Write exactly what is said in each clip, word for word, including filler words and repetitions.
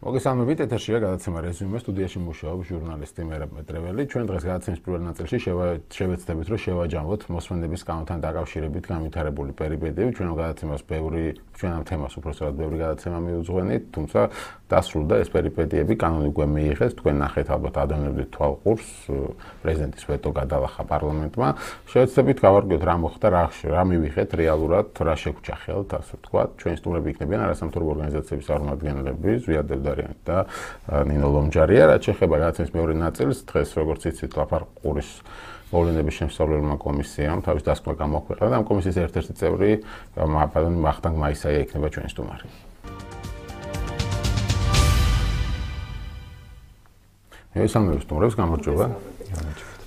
მოგესალმებით, ეთერშია გადაცემა რეზიუმე, სტუდიაში მუშაობს ჟურნალისტი მერაბ მეტრეველი. ჩვენ დღეს გადაცემის პირველ ნაწილში შევეცდებით, რომ შევაჯამოთ მოსმენების კანონთან დაკავშირებით განვითარებული პერიპეტიები. ჩვენ გადაცემას ბევრი, ჩვენ ამ თემას უпроსტად ბევრი გადაცემა მიუძღვენით, თუმცა დასრულდა ეს პერიპეტიები, კანონი უკვე მიიღეს, თქვენ ნახეთ ალბათ ადევნებდით თვალყურს, პრეზიდენტის ვეტო გადალახა პარლამენტმა. შევეცდებით გავარკვიოთ რა მოხდა, რა რა მივიღეთ რეალურად, რა შეგვჭა ხელთ, ასე ვთქვათ. ჩვენი სტუმრები იქნებიან არასამთავრობო ორგანიზაციების წარმომადგენლები, ზვიად და ნინო ლომჯარია, რაც შეეხება გადაცემის მეორე ნაწილს, დღეს როგორც იცით, ლაპარაკურის მოვლენების შემსწავლელმა კომისიამ თავის დასკვნა გამოაქვეყნა და ამ კომისიის ერთ-ერთი წევრი მაპადონი ვახტანგ მაისაია იქნება ჩვენი სტუმარი. მესამე სტუმრებს გამარჯობა.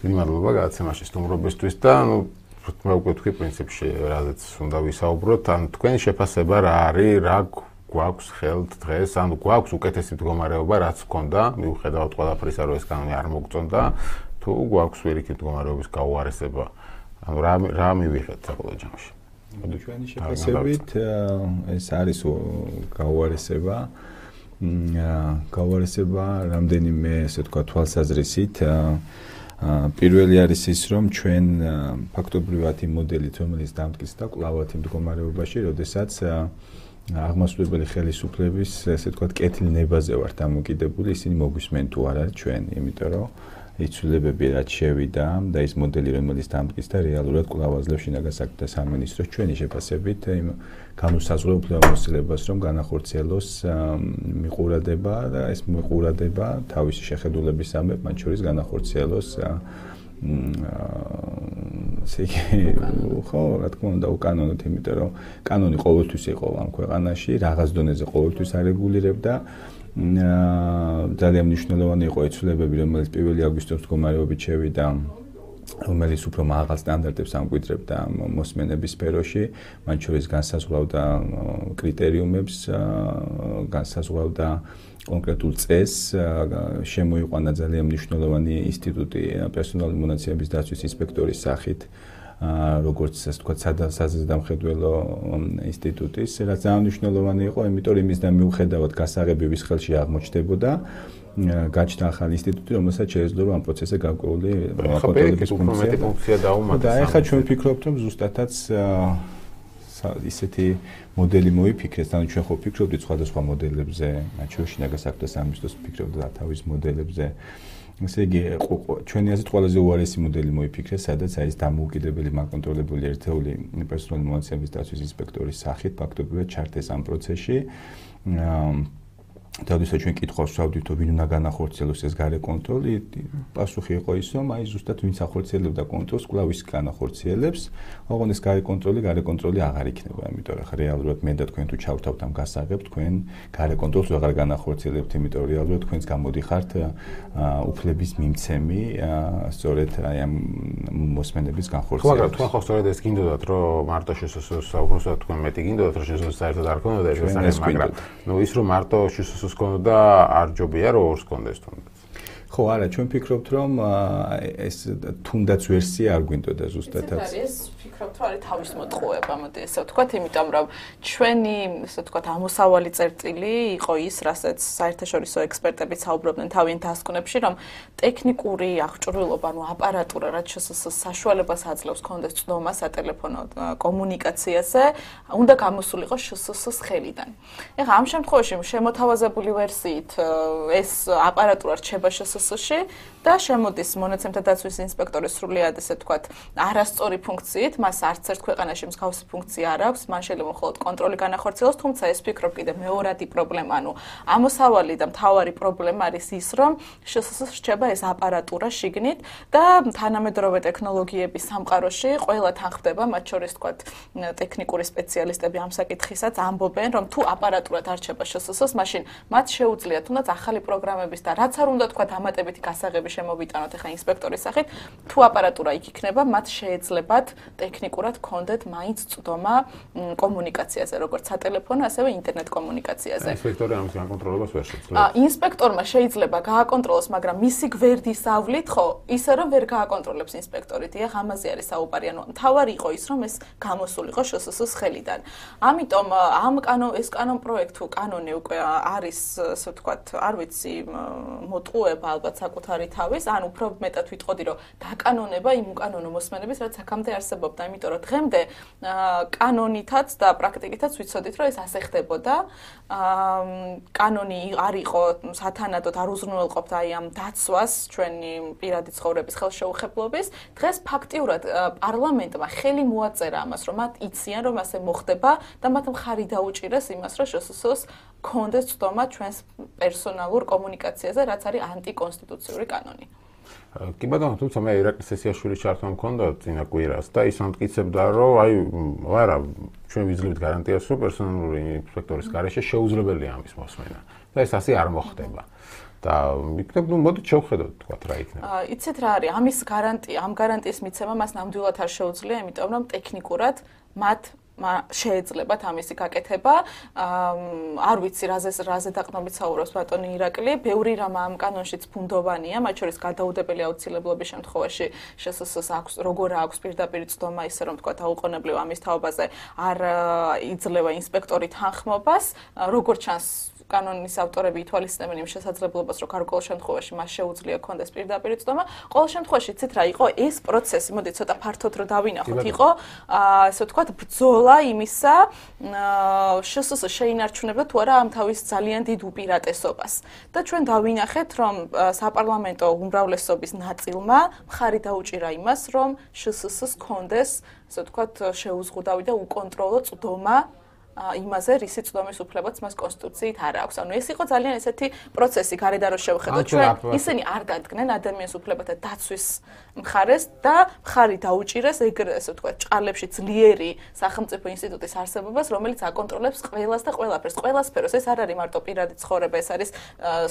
დიდი მადლობა გადაცემაში სტუმრობისთვის და ნუ მე უკვე თქვი პრინციპში რაზეც უნდა ვისაუბროთ, ან თქვენი შეფასება რა არის, რა გვაქვს ხელთ დღეს, ანუ გვაქვს უკეთესი მდგომარეობა, რაც ჰქონდა, მიუხედავად ყველაფრისა, რომ ეს კანონი არ მოგწონდა, თუ გვაქვს ვერიქით მდგომარეობის გაუარესება. ანუ რა რა მივიღეთ საბოლოო ჯამში? ჩვენი შეფასებით ეს არის გაუარესება. გაუარესება რამდენიმე, ესე თქვა, თვალსაზრისით. პირველი არის ის, რომ ჩვენ ფაქტობრივად იმ მოდელით, რომელიც დამტკიცდა კვლავ იმ მდგომარეობაში, როდესაც აღმასრულებელი ხელისუფლების, ესე ვთქვათ, კეთილნებაზე ვართ დამოკიდებული, ისინი მოგვისმენ თუ არა ჩვენ, იმიტომ რომ იცვლებები რაც შევიდა და ის მოდელი, რომელიც დამტკიცდა, რეალურად კვლავ აძლევს შინაგან საქმეთა სამინისტროს ჩვენი შეფასებით იმ განუსაზღვრელ უფლებამოსილებას, რომ განახორციელოს მიყურადება და ეს მიყურადება თავისი შეხედულებისამებრ, მათ შორის განახორციელოს ხო, რა თქმა უნდა, უკანონოდ, იმიტომ რომ კანონი ყოველთვის იყო ამ ქვეყანაში, რაღაც დონეზე ყოველთვის არეგულირებდა. ძალიან მნიშვნელოვანი იყო იცვლებები, რომელიც პირველი აგვისტოს მდგომარეობით შევიდა, რომელიც უფრო მაღალ სტანდარტებს ამკვიდრებდა მოსმენების სფეროში, მათ შორის განსაზღვრავდა კრიტერიუმებს, განსაზღვრავდა კონკრეტულ წესს, შემოიყვანა ძალიან მნიშვნელოვანი ინსტიტუტი პერსონალური მონაცემების დაცვის ინსპექტორის სახით, როგორც ასე ვთქვათ, საზედამხედველო ინსტიტუტის, რაც ძალიან მნიშვნელოვანი იყო, იმიტომ რომ იმის და მიუხედავად გასაღებების ხელში აღმოჩნდებოდა, გაჩნდა ახალი ინსტიტუტი, რომელსაც შეეძლო ამ პროცესზე გარკვეული კონტროლის ფუნქცია დაუმატა. და ეხლა ჩვენ ვფიქრობთ, რომ ზუსტადაც ისეთი მოდელი მოიფიქრეს, ანუ ჩვენ ხო ვფიქრობდით სხვადასხვა მოდელებზე, მათ შორის შინაგან საქმეთა სამინისტროს ფიქრობდა თავის მოდელებზე. ესე იგი, ჩვენი აზრით ყველაზე უარესი მოდელი მოიფიქრეს, სადაც არის დამოუკიდებელი მაკონტროლებული ერთეული პერსონალური მონაცემების დაცვის ინსპექტორის სახით, ფაქტობრივად ჩართეს ამ პროცესში. Თავდასაც ჩვენ კითხვას ვსვავდით, ვინ უნდა განახორციელოს ეს გარე კონტროლი, პასუხი იყო ის, რომ აი ზუსტად ვინც ახორციელებდა კონტროლს, კვლავ ის განახორციელებს, ოღონდ ეს გარე კონტროლი, გარე კონტროლი აღარ იქნება, იმიტომ რომ რეალურად მე და თქვენ თუ ჩავთავთ ამ გასაღებთ, თქვენ გარე კონტროლს აღარ განახორციელებთ, იმიტომ რომ რეალურად თქვენს გამოდიხართ უფლების მიმცემი, სწორედ აი ამ მოსმენების განხორციელებას. მაგრამ თქვენ ხო სწორედ ეს გინდოდათ, რომ მარტო შესაძლოა უბრალოდ თქვენ მეტი გინდოდათ, რომ შესაძლოა საერთოდ არ ქონოდა ეს შესაძლებელი, მაგრამ ნუ ის რომ მარტო შესაძლოა და არ ჯობია რომ ორს კონდეს თუნდაც. ხო, არა, ჩვენ ვფიქრობთ, რომ ეს თუნდაც ვერსია არ გვინდოდა ზუსტადაც. ეს ვფიქრობთ, რომ არის თავის მოტყუება, მოდი ესე ვთქვათ, იმიტომ რომ ჩვენი, ესე ვთქვათ, ამოსავალი წერტილი იყო ის, რასაც საერთაშორისო ექსპერტები საუბრობდნენ თავიანთ დასკვნებში, რომ ტექნიკური აღჭურვილობა, ანუ აპარატურა, რაც საშუალებას აძლევს კონდეს ცნობა სატელეფონო კომუნიკაციაზე, უნდა გამოსულიყო შსს ხელიდან. ეხლა ამ შემთხვევაში შემოთავაზებული ვერსიით ეს აპარატურა რჩება შსს-ში და შემოდის მონაცემთა დაცვის ინსპექტორის სრულიად, ესე ვთქვათ, არასწორი ფუნქციით, მას არც ერთ ქვეყანაში მსგავსი ფუნქცია არ აქვს, მან შეიძლება მხოლოდ კონტროლი განახორციელოს, თუმცა ეს ფიქრობ კიდე მეორადი პრობლემა, ანუ ამოსავალი და მთავარი პრობლემა არის ის, რომ შსს რჩება ეს აპარატურა შიგნით და თანამედროვე ტექნოლოგიების სამყაროში ყველა თან ხდება, მათ შორის ვთქვათ, ტექნიკური სპეციალისტები ამ საკითხისაც ამბობენ, რომ თუ აპარატურა დარჩება შსს-ს, მაშინ მათ შეუძლიათ თუნდაც ახალი პროგრამების და რაც არ უნდა თქვათ ამატებითი გასაღები შემოვიტანოთ ახლა ინსპექტორის სახით, თუ აპარატურა იქ იქნება, მათ შეეძლებათ ტექნიკურად გქონდეთ მაინც წვდომა კომუნიკაციაზე, როგორც სატელეფონო, ასევე ინტერნეტ კომუნიკაციაზე. ინსპექტორი ამის განკონტროლებას ვერ შეძლებს. ინსპექტორმა შეიძლება გააკონტროლოს, მაგრამ მისი გვერდის ავლით ხო, ისე რომ ვერ გააკონტროლებს ინსპექტორი. დიახ, ამაზე არის საუბარი. ანუ თავარი იყო ის, რომ ეს გამოსულიყო შსს ხელიდან. ამიტომ ამ კანონ ეს კანონ პროექტი კანონი უკვე არის, ასე ვთქვათ, არ ვიცი, მოტყუება ალბათ საკუთარი თავის, ან უფრო მეტად ვიტყოდი, რომ დაკანონება იმ უკანონო მოსმენების, რაც აქამდე არსებობდა, იმიტომ რომ დღემდე კანონითაც და პრაქტიკითაც ვიცოდით, რომ ეს ასე ხდებოდა. კანონი არ იყო სათანადოდ არ უზრუნველყოფდა აი ამ დაცვას ჩვენი პირადი ცხოვრების ხელშეუხებლობის. დღეს ფაქტიურად პარლამენტმა ხელი მოაწერა ამას, რომ მათ იციან, რომ ასე მოხდება და მათ მხარი დაუჭირეს იმას, რომ შსს გქონდეს წვდომა ჩვენს პერსონალურ კომუნიკაციაზე, რაც არის ანტიკონსტიტუციური კანონი. კი ბატონო, თუმცა მე ირაკლი სესიაშვილის ჩართვა მქონდა წინა კვირას და ის ამტკიცებდა, რომ აი არა, ჩვენ ვიძლევთ გარანტიას, რომ პერსონალური ინსპექტორის გარეშე შეუძლებელია ამის მოსმენა და ეს ასე არ მოხდება. და იქნებ, ну, მოდით შევხედოთ, თქვათ, რა იქნება. აა, იცით რა არის? ამის გარანტია, ამ გარანტიის მიცემა მას ნამდვილად არ შეუძლია, იმიტომ რომ ტექნიკურად მათ შეეძლებათ ამისი გაკეთება. არ ვიცი, რაზე რაზე დაყრდნობით საუბრობს ბატონი ირაკლი. ბევრი რამ ამ კანონშიც ფუნდოვანია, მათ შორის გადაუდებელი აუცილებლობის შემთხვევაში შსს აქვს, როგორ აქვს პირდაპირ წვდომა, ისე რომ თქვა დაუყოვნებლივ ამის თაობაზე არ იძლევა ინსპექტორი თანხმობას, როგორ ჩანს კანონის ავტორები ითვალისწინებენ იმ შესაძლებლობას, რომ გარკვეულ შემთხვევაში მას შეუძლია ქონდეს პირდაპირ წვდომა. ყოველ შემთხვევაში იცით რა იყო ეს პროცესი, მოდით ცოტა ფართოდ რო დავინახოთ, იყო ასე ვთქვათ ბრძოლა იმისა, შსს შეინარჩუნებდა თუ არა ამ თავის ძალიან დიდ უპირატესობას. და ჩვენ დავინახეთ, რომ საპარლამენტო უმრავლესობის ნაწილმა მხარი დაუჭირა იმას, რომ შსს ქონდეს, ასე ვთქვათ, შეუზღუდავი და უკონტროლო წვდომა იმაზე, რისი წვდომის უფლებაც მას კონსტიტუციით არ აქვს. ანუ ეს იყო ძალიან ესეთი პროცესი, გარედან რო შევხედოთ, ჩვენ ისინი არ დადგნენ ადამიანის უფლებათა დაცვის მხარეს და მხარი დაუჭირეს ეგრე ასე ვთქვათ, ჭყალებში ძლიერი სახელმწიფო ინსტიტუტის არსებობას, რომელიც აკონტროლებს ყველას და ყველაფერს, ყველა სფეროს. ეს არ არის მარტო პირადი ცხოვრება, ეს არის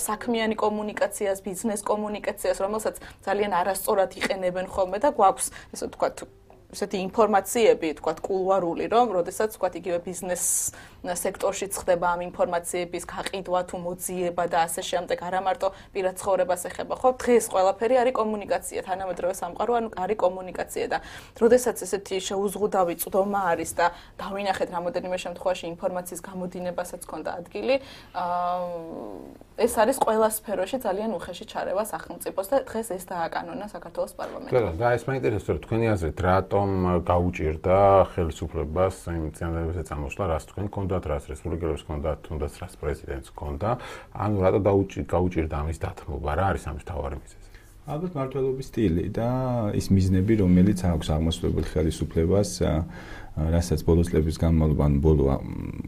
საქმიანი კომუნიკაციას, ბიზნეს კომუნიკაციას, რომელსაც ძალიან არასწორად იყენებენ ხოლმე და გვაქვს ასე ვთქვათ ესეთი ინფორმაციები, თქვათ, კულუარული, რომ, როდესაც, თქვათ, იგივე ბიზნეს სექტორშიც ხდება ამ ინფორმაციების გაყიდვა თუ მოძიება და ასე შემდეგ, არა მარტო პირად ცხოვრებას ეხება, ხო? დღეს ყველაფერი არის კომუნიკაცია, თანამედროვე სამყარო, ანუ არის კომუნიკაცია და როდესაც ესეთი შეუზღუდავი წვდომა არის და დავინახეთ რამოდენიმე შემთხვევაში ინფორმაციის გამოდინებასაც ჰქონდა ადგილი, ეს არის ყველა სფეროში ძალიან უხეში ჩარევა სახელმწიფოს და დღეს ეს დააკანონა საქართველოს პარლამენტმა. ბატონო, და ეს მაინტერესებს, რომ თქვენი აზრით, რატომ გაუჭირდა ხელისუფლებას იმ წინადადებაზე წამოსვლა, რას თქვენ გქონდათ, რას რესპუბლიკელებს გქონდათ, თუნდაც რას პრეზიდენტს გქონდა, ანუ რატო გაუჭირდა ამის დათმობა, რა არის ამის მთავარი მიზეზი? ალბათ მმართველობის სტილი და ის მიზნები, რომელიც აქვს აღმასრულებელ ხელისუფლებას, რასაც ბოლო წლების განმავლობაში, ბოლო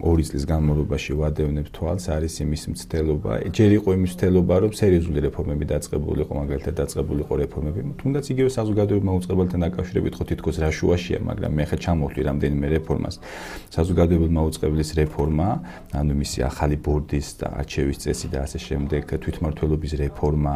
ორი წლის განმავლობაში ვადევნებ თვალს, არის იმის მცდელობა. ჯერ იყო იმის მცდელობა, რომ სერიოზული რეფორმები დაწყებულიყო, მაგალითად დაწყებულიყო რეფორმები. თუნდაც იგივე საზოგადოებრივ მაუწყებელთან დაკავშირებით ხო თითქოს რა შუაშია, მაგრამ მე ხა ჩამოვთვლი რამდენიმე რეფორმას. საზოგადოებრივ მაუწყებლის რეფორმა, ანუ მისი ახალი ბორდის და არჩევის წესი და ასე შემდეგ, თვითმმართველობის რეფორმა.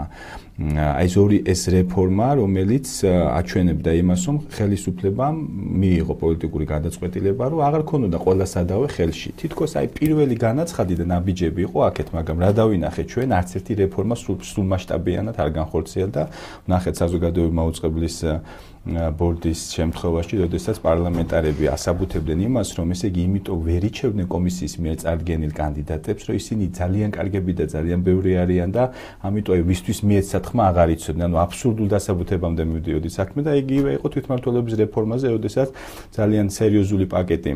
აი ეს ორი ეს რეფორმა, რომელიც აჩვენებდა იმას, რომ ხელისუფლებამ მიიღო პოლიტიკური გადაწყვეტილება, რომ აღარ ქონოდა ყველა სადავე ხელში. თითქოს აი პირველი განაცხადი და ნაბიჯები იყო აქეთ, მაგრამ რა დავინახეთ ჩვენ, არც ერთი რეფორმა სულ მასშტაბიანად არ განხორციელდა. ნახეთ საზოგადოებრივ მაუწყებლის ბორდის შემთხვევაში, როდესაც პარლამენტარები ასაბუთებდნენ იმას, რომ ესე იგი იმიტომ ვერ იჩევდნენ კომისიის მიერ წარდგენილ კანდიდატებს, რომ ისინი ძალიან კარგები და ძალიან ბევრი არიან და ამიტომ ვისთვის მიეცათ ხმა აღარ იცოდნენ. ანუ აბსურდულ დასაბუთებამდე მივდიოდი საქმე და იგივე იყო თვითმმართველობის რეფორმაზე, როდესაც ძალიან სერიოზული პაკეტი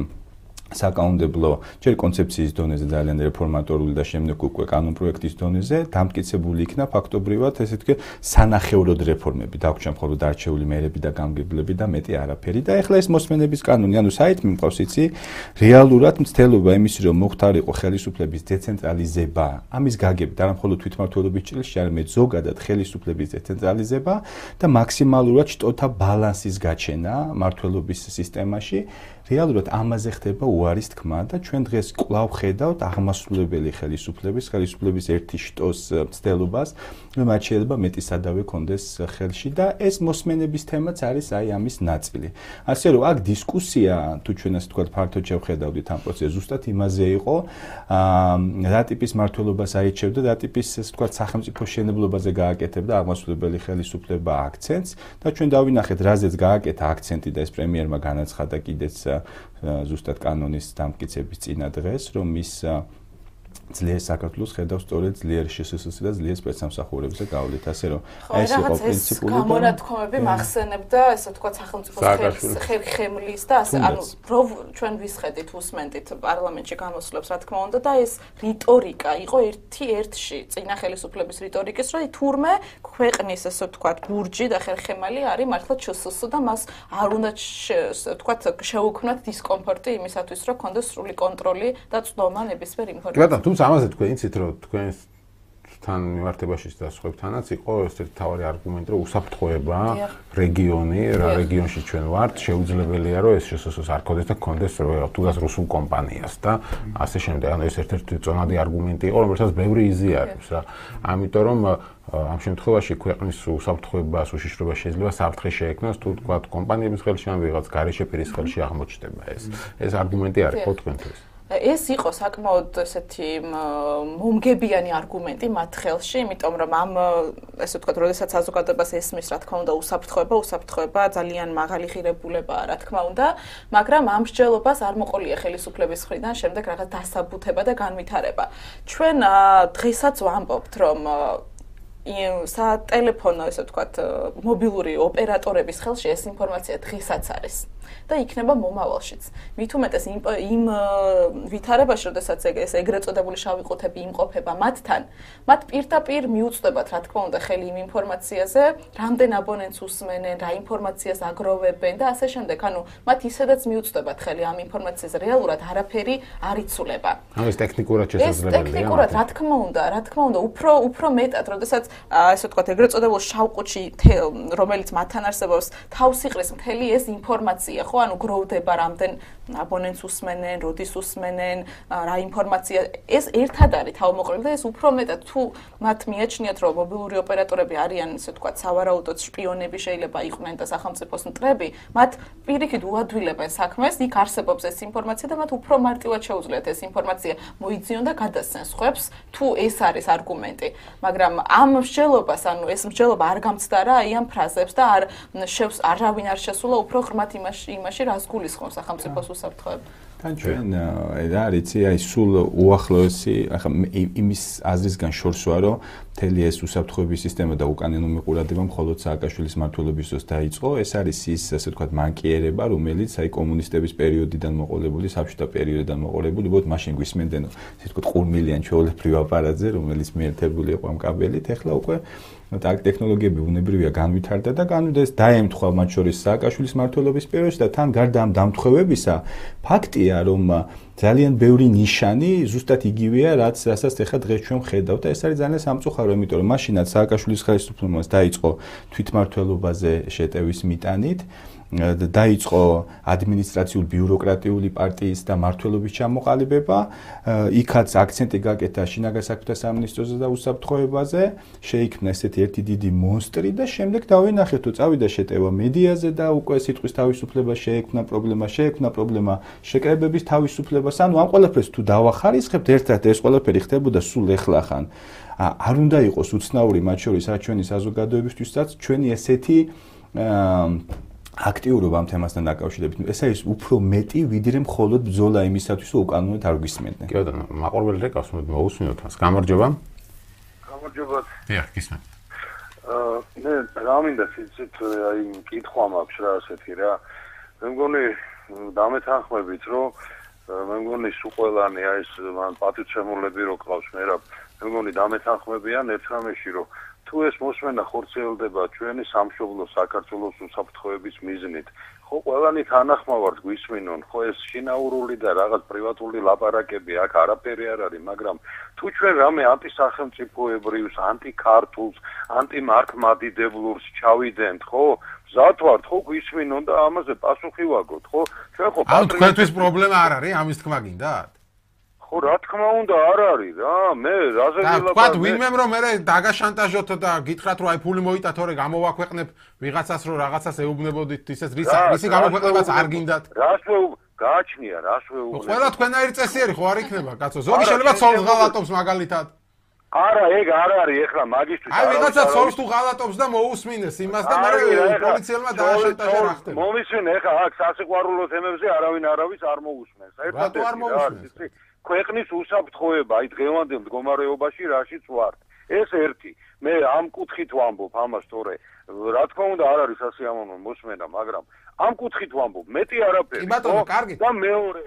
საკანონმდებლო ჯერ კონცეფციის დონეზე ძალიან რეფორმატორული და შემდეგ უკვე კანონპროექტის დონეზე დამტკიცებული იქნა ფაქტობრივად ესე თქვა სანახევროდ რეფორმები დაგვრჩა მხოლოდ არჩეული მერები და გამგებლები და მეტი არაფერი და ეხლა ეს მოსმენების კანონი ანუ საით მიმყავს იცი რეალურად მცდელობა იმის რომ მოხდარიყო ხელისუფლების დეცენტრალიზება ამის გაგებით არა მხოლოდ თვითმმართველობის ჭრილში არამედ ზოგადად ხელისუფლების დეცენტრალიზება და მაქსიმალურად შტოთა ბალანსის გაჩენა მმართველობის სისტემაში რეალურად ამაზე ხდება უარის თქმა და ჩვენ დღეს კვლავ ხედავთ აღმასრულებელი ხელისუფლების, ხელისუფლების ერთი შტოს მცდელობას, რომ მათ შეიძლება მეტი სადავე კონდეს ხელში და ეს მოსმენების თემაც არის აი ამის ნაწილი. ასე რომ აქ დისკუსია თუ ჩვენ ასე ვთქვათ ფართოდ შევხედავდით ამ პროცესს, ზუსტად იმაზე იყო, რა ტიპის მმართველობას აიჩევდა, რა ტიპის ასე ვთქვათ სახელმწიფო შენებლობაზე გააკეთებდა აღმასრულებელი ხელისუფლება აქცენტს და ჩვენ დავინახეთ, რაზეც გააკეთა აქცენტი და ეს პრემიერმა განაცხადა კიდეც ზუსტად კანონის დამტკიცების წინა დღეს, რომ ის ძლიერ საქართველოს ხედავს სწორედ ძლიერ შსს და ძლიერ სპეცსამსახურებზე გავლით, ასე რომ ეს იყო პრინციპული და გამონათქვამები მახსენებდა, ესე ვთქვათ, სახელმწიფო ხერხემლის და ასე, ანუ რო ჩვენ ვისხედით, უსმენდით პარლამენტში გამოსვლებს, რა თქმა უნდა და ეს რიტორიკა იყო ერთი ერთში წინა ხელისუფლების რიტორიკის, რომ თურმე ქვეყნის ესე ვთქვათ, ბურჯი და ხერხემალი არის მართლა ჩსს და მას არ უნდა ესე ვთქვათ, შეუქმნათ დისკომფორტი იმისათვის, რომ კონდეს სრული კონტროლი და წვდომა ნებისმიერ ინფორმაციაზე. თუმცა ამაზე თქვენ იცით, რომ თქვენთან მიმართებაში და სხვებთანაც იყო ერთ-ერთი მთავარი არგუმენტი, რომ უსაფრთხოება რეგიონი, რა რეგიონში ჩვენ ვართ, შეუძლებელია, რომ ეს შსს არ ქონდეს და ქონდეს თუნდაც რუსულ კომპანიას და ასე შემდეგ. ანუ ეს ერთ-ერთი წონადი არგუმენტი იყო, რომელსაც ბევრი იზიარებს რა. ამიტომ რომ ამ შემთხვევაში ქვეყნის უსაფრთხოებას, უშიშროებას შეიძლება საფრთხე შეექმნას, თუ თქვა კომპანიების ხელში ან ვიღაც გარეშე პირის ხელში აღმოჩნდება ეს. ეს არგუმენტი არის ხო თქვენთვის? ეს იყო საკმაოდ ესეთი მომგებიანი არგუმენტი მათ ხელში, იმიტომ რომ ამ ესე ვთქვათ, როდესაც საზოგადოებას ესმის, რა თქმა უნდა, უსაფრთხოება, უსაფრთხოება ძალიან მაღალი ღირებულებაა, რა თქმა უნდა, მაგრამ ამ მსჯელობას არ მოყოლია ხელისუფლების მხრიდან შემდეგ რაღაც დასაბუთება და განვითარება. ჩვენ დღესაც ვამბობთ, რომ სატელეფონო, ესე ვთქვათ, მობილური ოპერატორების ხელში ეს ინფორმაცია დღესაც არის. და იქნება მომავალშიც. მით უმეტეს იმ ვითარებაში, როდესაც ეს ეგრეთ წოდებული შავი ყუთები იმყოფება მათთან, მათ პირდაპირ მიუწვდებათ, რა თქმა უნდა, ხელი იმ ინფორმაციაზე, რამდენ აბონენტს უსმენენ, რა ინფორმაციას აგროვებენ და ასე შემდეგ. ანუ მათ ისედაც მიუწვდებათ ხელი ამ ინფორმაციაზე, რეალურად არაფერი არ იცვლება. ანუ ეს ტექნიკურად შესაძლებელია. ეს ტექნიკურად, რა თქმა უნდა, რა თქმა უნდა, უფრო უფრო მეტად, როდესაც ესე ვთქვათ, ეგრეთ წოდებულ შავ ყუთში, რომელიც მათთან არსებობს, თავს იყრის მთელი ეს ინფორმაცია, ხო? ანუ გროვდება რამდენ აბონენტს უსმენენ, როდის usmenen, რა ინფორმაცია, ეს ერთად არის თავმოყრილი და ეს უფრო მეტად თუ მათ მიაჩნიათ, რომ მობილური ოპერატორები არიან, ესე ვთქვათ, სავარაუდოდ შპიონები შეიძლება იყვნენ და სახელმწიფოს მტრები, მათ პირიქით უადვილებენ საქმეს, იქ არსებობს ეს ინფორმაცია და მათ უფრო მარტივად შეუძლიათ ეს ინფორმაცია მოიძიონ და გადასცენ სხვებს, თუ ეს არის არგუმენტი. მაგრამ ამ მსჯელობას, ანუ ეს მსჯელობა არ გამცდარა აი ამ ფრაზებს და არ არავინ არ შესულა უფრო ღრმად იმაში, იმაში რას გულისხმობს სახელმწიფოს უსაფრთხოება. თან ჩვენ რა არიცი, აი სულ უახლოესი, ახლა იმის აზრისგან შორს ვარ, რომ მთელი ეს უსაფრთხოების სისტემა და უკანონო მიყურადება მხოლოდ სააკაშვილის მმართველობის დროს დაიწყო. ეს არის ის, ასე ვთქვათ, მანკიერება, რომელიც აი კომუნისტების პერიოდიდან მოყოლებული, საბჭოთა პერიოდიდან მოყოლებული, უბრალოდ მაშინ გვისმენდნენ, ასე ვთქვათ, ყურმილიან ჩვეულებრივ აპარატზე, რომელიც მიერთებული იყო ამ კაბელით, ეხლა უკვე ტექნოლოგიები უნებრივია განვითარდა და განვიდა ეს დაემთხვა მათ შორის სააკაშვილის მმართველობის პერიოდში და თან გარდა ამ დამთხევებისა ფაქტია რომ ძალიან ბევრი ნიშანი ზუსტად იგივეა რაც რასაც ახლა დღეს ჩვენ ვხედავთ და ეს არის ძალიან სამწუხარო იმიტომ რომ მაშინაც სააკაშვილის ხელისუფლებამ დაიწყო თვითმმართველობაზე შეტევის მიტანით დაიწყო ადმინისტრაციულ ბიუროკრატიული პარტიის და მმართველობის ჩამოყალიბება, იქაც აქცენტი გაკეთა შინაგან საქმეთა სამინისტროზე და უსაფრთხოებაზე, შეიქმნა ესეთი ერთი დიდი მონსტრი და შემდეგ დავინახეთ, თუ წავიდა შეტევა მედიაზე და უკვე სიტყვის თავისუფლება შეექმნა პრობლემა, შეექმნა პრობლემა შეკრებების თავისუფლებას, ანუ ამ ყველაფერს თუ დავახარისხებთ, ერთად ეს ყველაფერი ხდებოდა სულ ეხლახან. არ უნდა იყოს უცნაური მათ შორის რა ჩვენი საზოგადოებისთვისაც ჩვენი ესეთი აქტიურობა ამ თემასთან დაკავშირებით. ეს არის უფრო მეტი, ვიდრე მხოლოდ ბრძოლა იმისათვის, რომ უკანონოდ არ გვისმენდნენ. კი ბატონო, მაყურებელი რეკავს, მოусმინოთ მას. გამარჯობა. გამარჯობა. დიახ, გისმენთ. აა, მე რა მინდა სიცით აი კითხვა მაქვს რა ასეთი რა. მე მგონი დამეთანხმებით, რომ მე მგონი სულ ყველანი აი ეს მან პატივცემულები რო ყავს მე რა. მე მგონი დამეთანხმებიან ერთ რამეში, რომ თუ ეს მოსმენა ხორციელდება ჩვენი სამშობლო საქართველოს უსაფრთხოების მიზნით, ხო ყველანი თანახმავართ გვისმინონ, ხო ეს შინაურული და რაღაც პრივატული ლაპარაკები აქ არაფერი არ არის, მაგრამ თუ ჩვენ რამე ანტისახელმწიფოებრიუს, ანტიქართულს, ანტიმართლმადიდებლურს ჩავიდენთ, ხო? მზად ვართ, ხო გვისმინონ და ამაზე პასუხი ვაგოთ, ხო? ჩვენ ხო ანუ თქვენთვის პრობლემა არ არის, ამის თქმა გინდათ? ხო რა თქმა უნდა არ არის რა, მე რაზე ვილაპარაკე? თქვათ ვინმემ რომ მე დაგაშანტაჟოთ და გითხრათ რომ აი ფული მოიტა თორე გამოვაქვეყნებ ვიღაცას რომ რაღაცას ეუბნებოდით ისეს რის ისი გამოქვეყნებას არ გინდათ? რას გააჩნია, რას ვეუბნებ? ყველა თქვენაირი წესიერი ხო არ იქნება, კაცო? ზოგი შეიძლება ცოლს ღალატობს მაგალითად. არა, ეგ არ არის ახლა მაგისტრის. აი ვიღაცა ცოლს თუ ღალატობს და მოусმინეს იმას და მე პოლიციელმა დააშანტაჟა რა ხდება? მომისმენ ახლა აქ სასიყვარულო თემებზე არავინ არავის არ მოусმენს. ერთად არ მოусმენს. ქვეყნის უსაფრთხოება აი დღევანდელ მდგომარეობაში რაშიც ვართ. ეს ერთი. მე ამ კუთხით ვამბობ ამას თორე რა თქმა უნდა არ არის სასიამოვნო მოსმენა, მაგრამ ამ კუთხით ვამბობ, მეტი არაფერი. კი ბატონო, კარგით. და მეორე.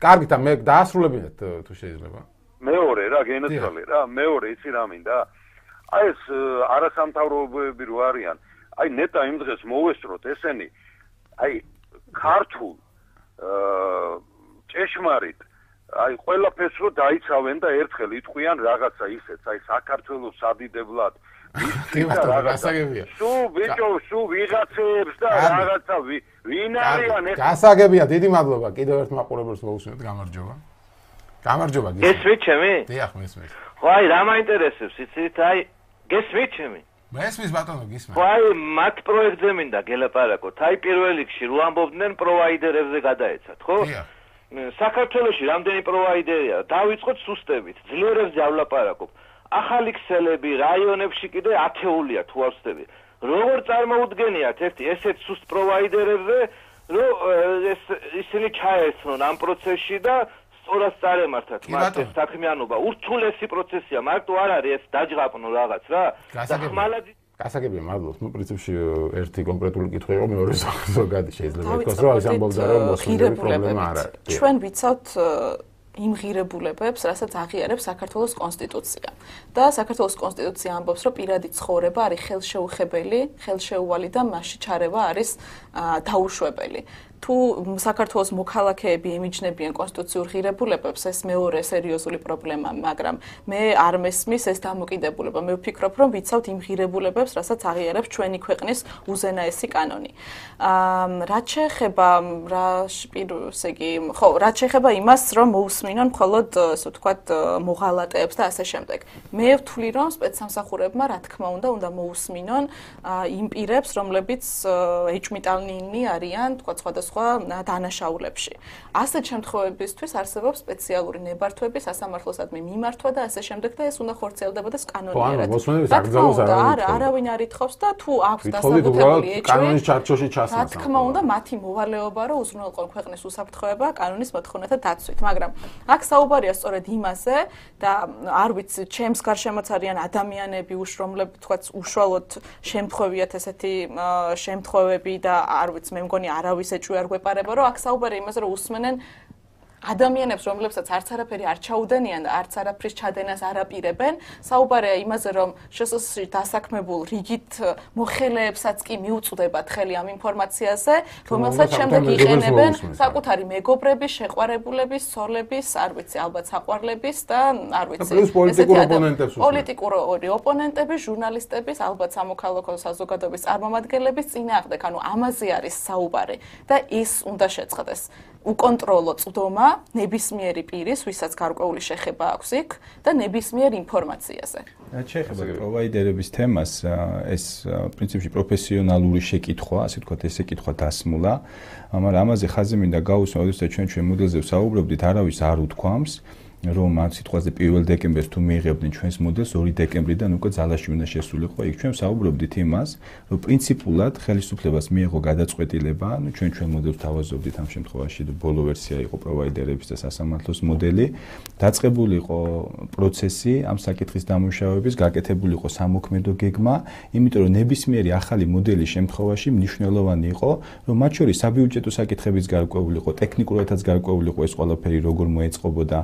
კარგით, მე დაასრულებინეთ თუ შეიძლება. მეორე რა გენაცვალე რა, მეორე იცი რა მინდა? აი ეს არასამთავრობოები რო არიან, აი ნეტა იმ დღეს მოვესწროთ ესენი, აი ქართულ აა ჭეშმარიტ აი ყველაფერს რო დაიცავენ და ერთხელ იტყვიან რაღაცა ისეც, აი საქართველოს სადიდებლად კი ბატონო, გასაგებია. სულ ბიჭო, სულ ვიღაცებს და რაღაცა ვინ არიან ეს? გასაგებია, დიდი მადლობა. კიდევ ერთ მაყურებელს მოусმინეთ, გამარჯობა. გამარჯობა გისმენთ. გესმით ჩემი? დიახ, მესმის. ხო, აი რა მაინტერესებს, იცით, აი გესმით ჩემი? მესმის ბატონო, გისმენთ. ხო, აი მათ პროექტზე მინდა გელაპარაკოთ. აი პირველ რიგში რო ამბობდნენ პროვაიდერებზე გადაეცათ, ხო? დიახ. საქართველოში რამდენი პროვაიდერია? დავიწყოთ სუსტებით, ძლიერებზეავლაპარაკობ. ახალი ქსელები რაიონებში კიდე ათეულია თუ არ ვცდები. როგორ წარმოუდგენიათ ერთი ესეთ სუსტ პროვაიდერებზე, რომ ეს ისინი ჩაერთნონ ამ პროცესში და სწორად წარემართათ მათ ეს საქმიანობა. ურთულესი პროცესია, მარტო არ არის ეს დაჯღაპნო რაღაც რა. გასაგებია. გასაგებია, მადლობთ. ნუ პრინციპში ერთი კონკრეტული კითხვა იყო, მეორე ზოგადი შეიძლება ითქვას, რომ ეს ამბობდა, რომ მოსახლეობის პრობლემა არ არის. ჩვენ ვიცავთ იმ ღირებულებებს, რასაც აღიარებს საქართველოს კონსტიტუცია. და საქართველოს კონსტიტუცია ამბობს, რომ პირადი ცხოვრება არის ხელშეუხებელი, ხელშეუვალი და მასში ჩარევა არის დაუშვებელი. თუ საქართველოს მოქალაქეები ემიჯნებიან კონსტიტუციურ ღირებულებებს, ეს მეორე სერიოზული პრობლემაა, მაგრამ მე არ მესმის ეს დამოკიდებულება. მე ვფიქრობ, რომ ვიცავთ იმ ღირებულებებს, რასაც აღიარებს ჩვენი ქვეყნის უზენაესი კანონი. აა რაც შეეხება რა პირს იგი, ხო, რაც შეეხება იმას, რომ მოусმინონ მხოლოდ, ასე ვთქვათ, მოღალატეებს და ასე შემდეგ. მე ვთვლი, რომ სპეცსამსახურებმა, რა თქმა უნდა, უნდა მოусმინონ იმ პირებს, რომლებიც ეჭვმიტანილნი არიან, თქვათ, სხვადასხვა დანაშაულებში. ასეთ შემთხვევებისთვის არსებობს სპეციალური ნებართვები, სასამართლოსადმი მიმართვა და ასე შემდეგ და ეს უნდა ხორციელდებოდეს კანონიერად. არა, არავინ არ ითხოვს და თუ აქვს დასაბუთებული ეჭვი, კანონის ჩარჩოში ჩასმას. რა თქმა უნდა, მათი მოვალეობა რომ უზრუნველყონ ქვეყნის უსაფრთხოება კანონის მოთხოვნათა დაცვით, მაგრამ აქ საუბარია სწორედ იმაზე და არ ვიცი, ჩემს გარშემოც არიან ადამიანები, რომლებიც თქვაც უშუალოდ შემთხვევიათ ესეთი შემთხვევები და არ ვიცი, მე მგონი არავის ეჭვი არ გვეპარება, რომ აქ საუბარია იმაზე, რომ უსმენენ ადამიანებს, რომლებსაც არც არაფერი არ ჩაუდენიან და არც არაფრის ჩადენას არ აპირებენ, საუბარია იმაზე, რომ შსს-ში დასაქმებულ რიგით მოხელეებსაც კი მიუწვდებათ ხელი ამ ინფორმაციაზე, რომელსაც შემდეგ იყენებენ საკუთარი მეგობრების, შეყვარებულების, სოლების, არ ვიცი, ალბათ საყვარლების და არ ვიცი, პოლიტიკური ოპონენტების, ჟურნალისტების, ალბათ სამოქალაქო საზოგადოების წარმომადგენლების წინააღმდეგ, ანუ ამაზე არის საუბარი და ის უნდა შეწყდეს. უკონტროლო წვდომა ნებისმიერი პირის, ვისაც გარკვეული შეხება აქვს იქ და ნებისმიერ ინფორმაციაზე. რაც შეეხება პროვაიდერების თემას, ეს პრინციპში პროფესიონალური შეკითხვა, ასე ვთქვათ, ესე კითხვა დასმულა, მაგრამ ამაზე ხაზი მინდა გაუსვა, როდესაც ჩვენ ჩვენ მოდელზე ვსაუბრობდით, არავის არ უთქვამს, რომ ამ სიტყვაზე პირველ დეკემბერს თუ მიიღებდნენ ჩვენს მოდელს ორი დეკემბრიდან უკვე ძალაში უნდა შესულიყო. იქ ჩვენ ვსაუბრობდით იმას, რომ პრინციპულად ხელისუფლებას მიიღო გადაწყვეტილება, ანუ ჩვენ ჩვენ მოდელს თავაზობდით ამ შემთხვევაში, ბოლო ვერსია იყო პროვაიდერების და სასამართლოს მოდელი, დაწყებული იყო პროცესი ამ საკითხის დამუშავების, გაკეთებული იყო სამოქმედო გეგმა, იმიტომ რომ ნებისმიერი ახალი მოდელის შემთხვევაში მნიშვნელოვანი იყო, რომ მათ შორის საბიუჯეტო საკითხებიც გარკვეული იყო, ტექნიკურადაც გარკვეული იყო ეს ყველაფერი როგორ მოეწყობოდა.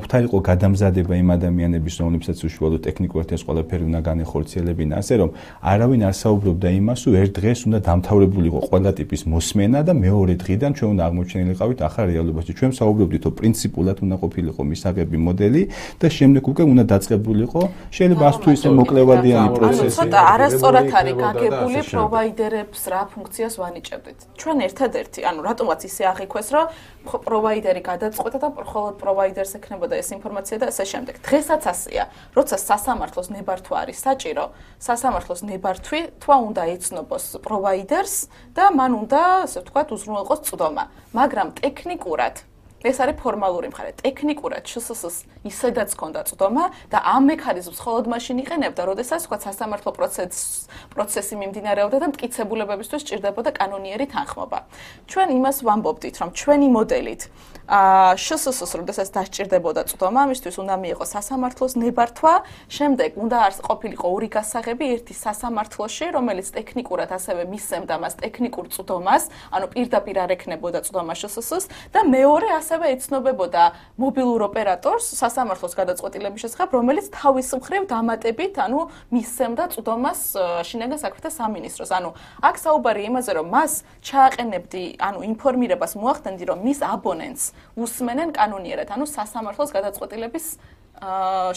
მოხდა იყო გადამზადება იმ ადამიანების, რომლებსაც უშუალოდ ტექნიკურად ეს ყველაფერი უნდა განეხორციელებინა, ასე რომ არავინ არ საუბრობდა იმას, რომ ერთ დღეს უნდა დამთავრებულიყო ყველა ტიპის მოსმენა და მეორე დღიდან ჩვენ უნდა აღმოჩენილიყავით ახალ რეალობაში. ჩვენ საუბრობდით, რომ პრინციპულად უნდა ყოფილიყო მისაღები მოდელი და შემდეგ უკვე უნდა დაწყებულიყო შეიძლება ას თუ ისე მოკლევადიანი პროცესი. ანუ ცოტა არასწორად არის გაგებული პროვაიდერებს რა ფუნქციას ვანიჭებდით. ჩვენ ერთადერთი, ანუ რატომაც ისე აღიქვეს, რომ პროვაიდერი გადაწყვეტა და მხოლოდ პროვაიდერს ექნებოდა ეს ინფორმაცია და ასე შემდეგ. დღესაც ასეა. როცა სასამართლოს ნებართვა არის საჭირო, სასამართლოს ნებართვი თვა უნდა ეცნობს პროვაიდერს და მან უნდა, ასე ვთქვათ, უზრუნველყოს წვდომა. მაგრამ ტექნიკურად ეს არის ფორმალური მხარე. ტექნიკურად შსს-ს ისედაც ჰქონდა წვდომა და ამ მექანიზმს მხოლოდ მაშინ იყენებდა, როდესაც თქვა სასამართლო პროცესი პროცესი მიმდინარეობდა და მტკიცებულებებისთვის სჭირდებოდა კანონიერი თანხმობა. ჩვენ იმას ვამბობდით, რომ ჩვენი მოდელით აა შსს-ს როდესაც დასჭირდებოდა წვდომა, ამისთვის უნდა მიიღოს სასამართლოს ნებართვა, შემდეგ უნდა ყოფილიყო ორი გასაღები, ერთი სასამართლოში, რომელიც ტექნიკურად ასევე მისცემდა მას ტექნიკურ წვდომას, ანუ პირდაპირ არ ექნებოდა წვდომა შსს-ს და მეორე ასევე ეცნობებოდა მობილურ ოპერატორს სასამართლოს გადაწყვეტილების შესახებ, რომელიც თავის მხრივ დამატებით, ანუ მისცემდა წვდომას შინაგან საქმეთა სამინისტროს. ანუ აქ საუბარი იმაზე, რომ მას ჩააყენებდი, ანუ ინფორმირებას მოახდენდი, რომ მის აბონენტს უსმენენ კანონიერად, ანუ სასამართლოს გადაწყვეტილების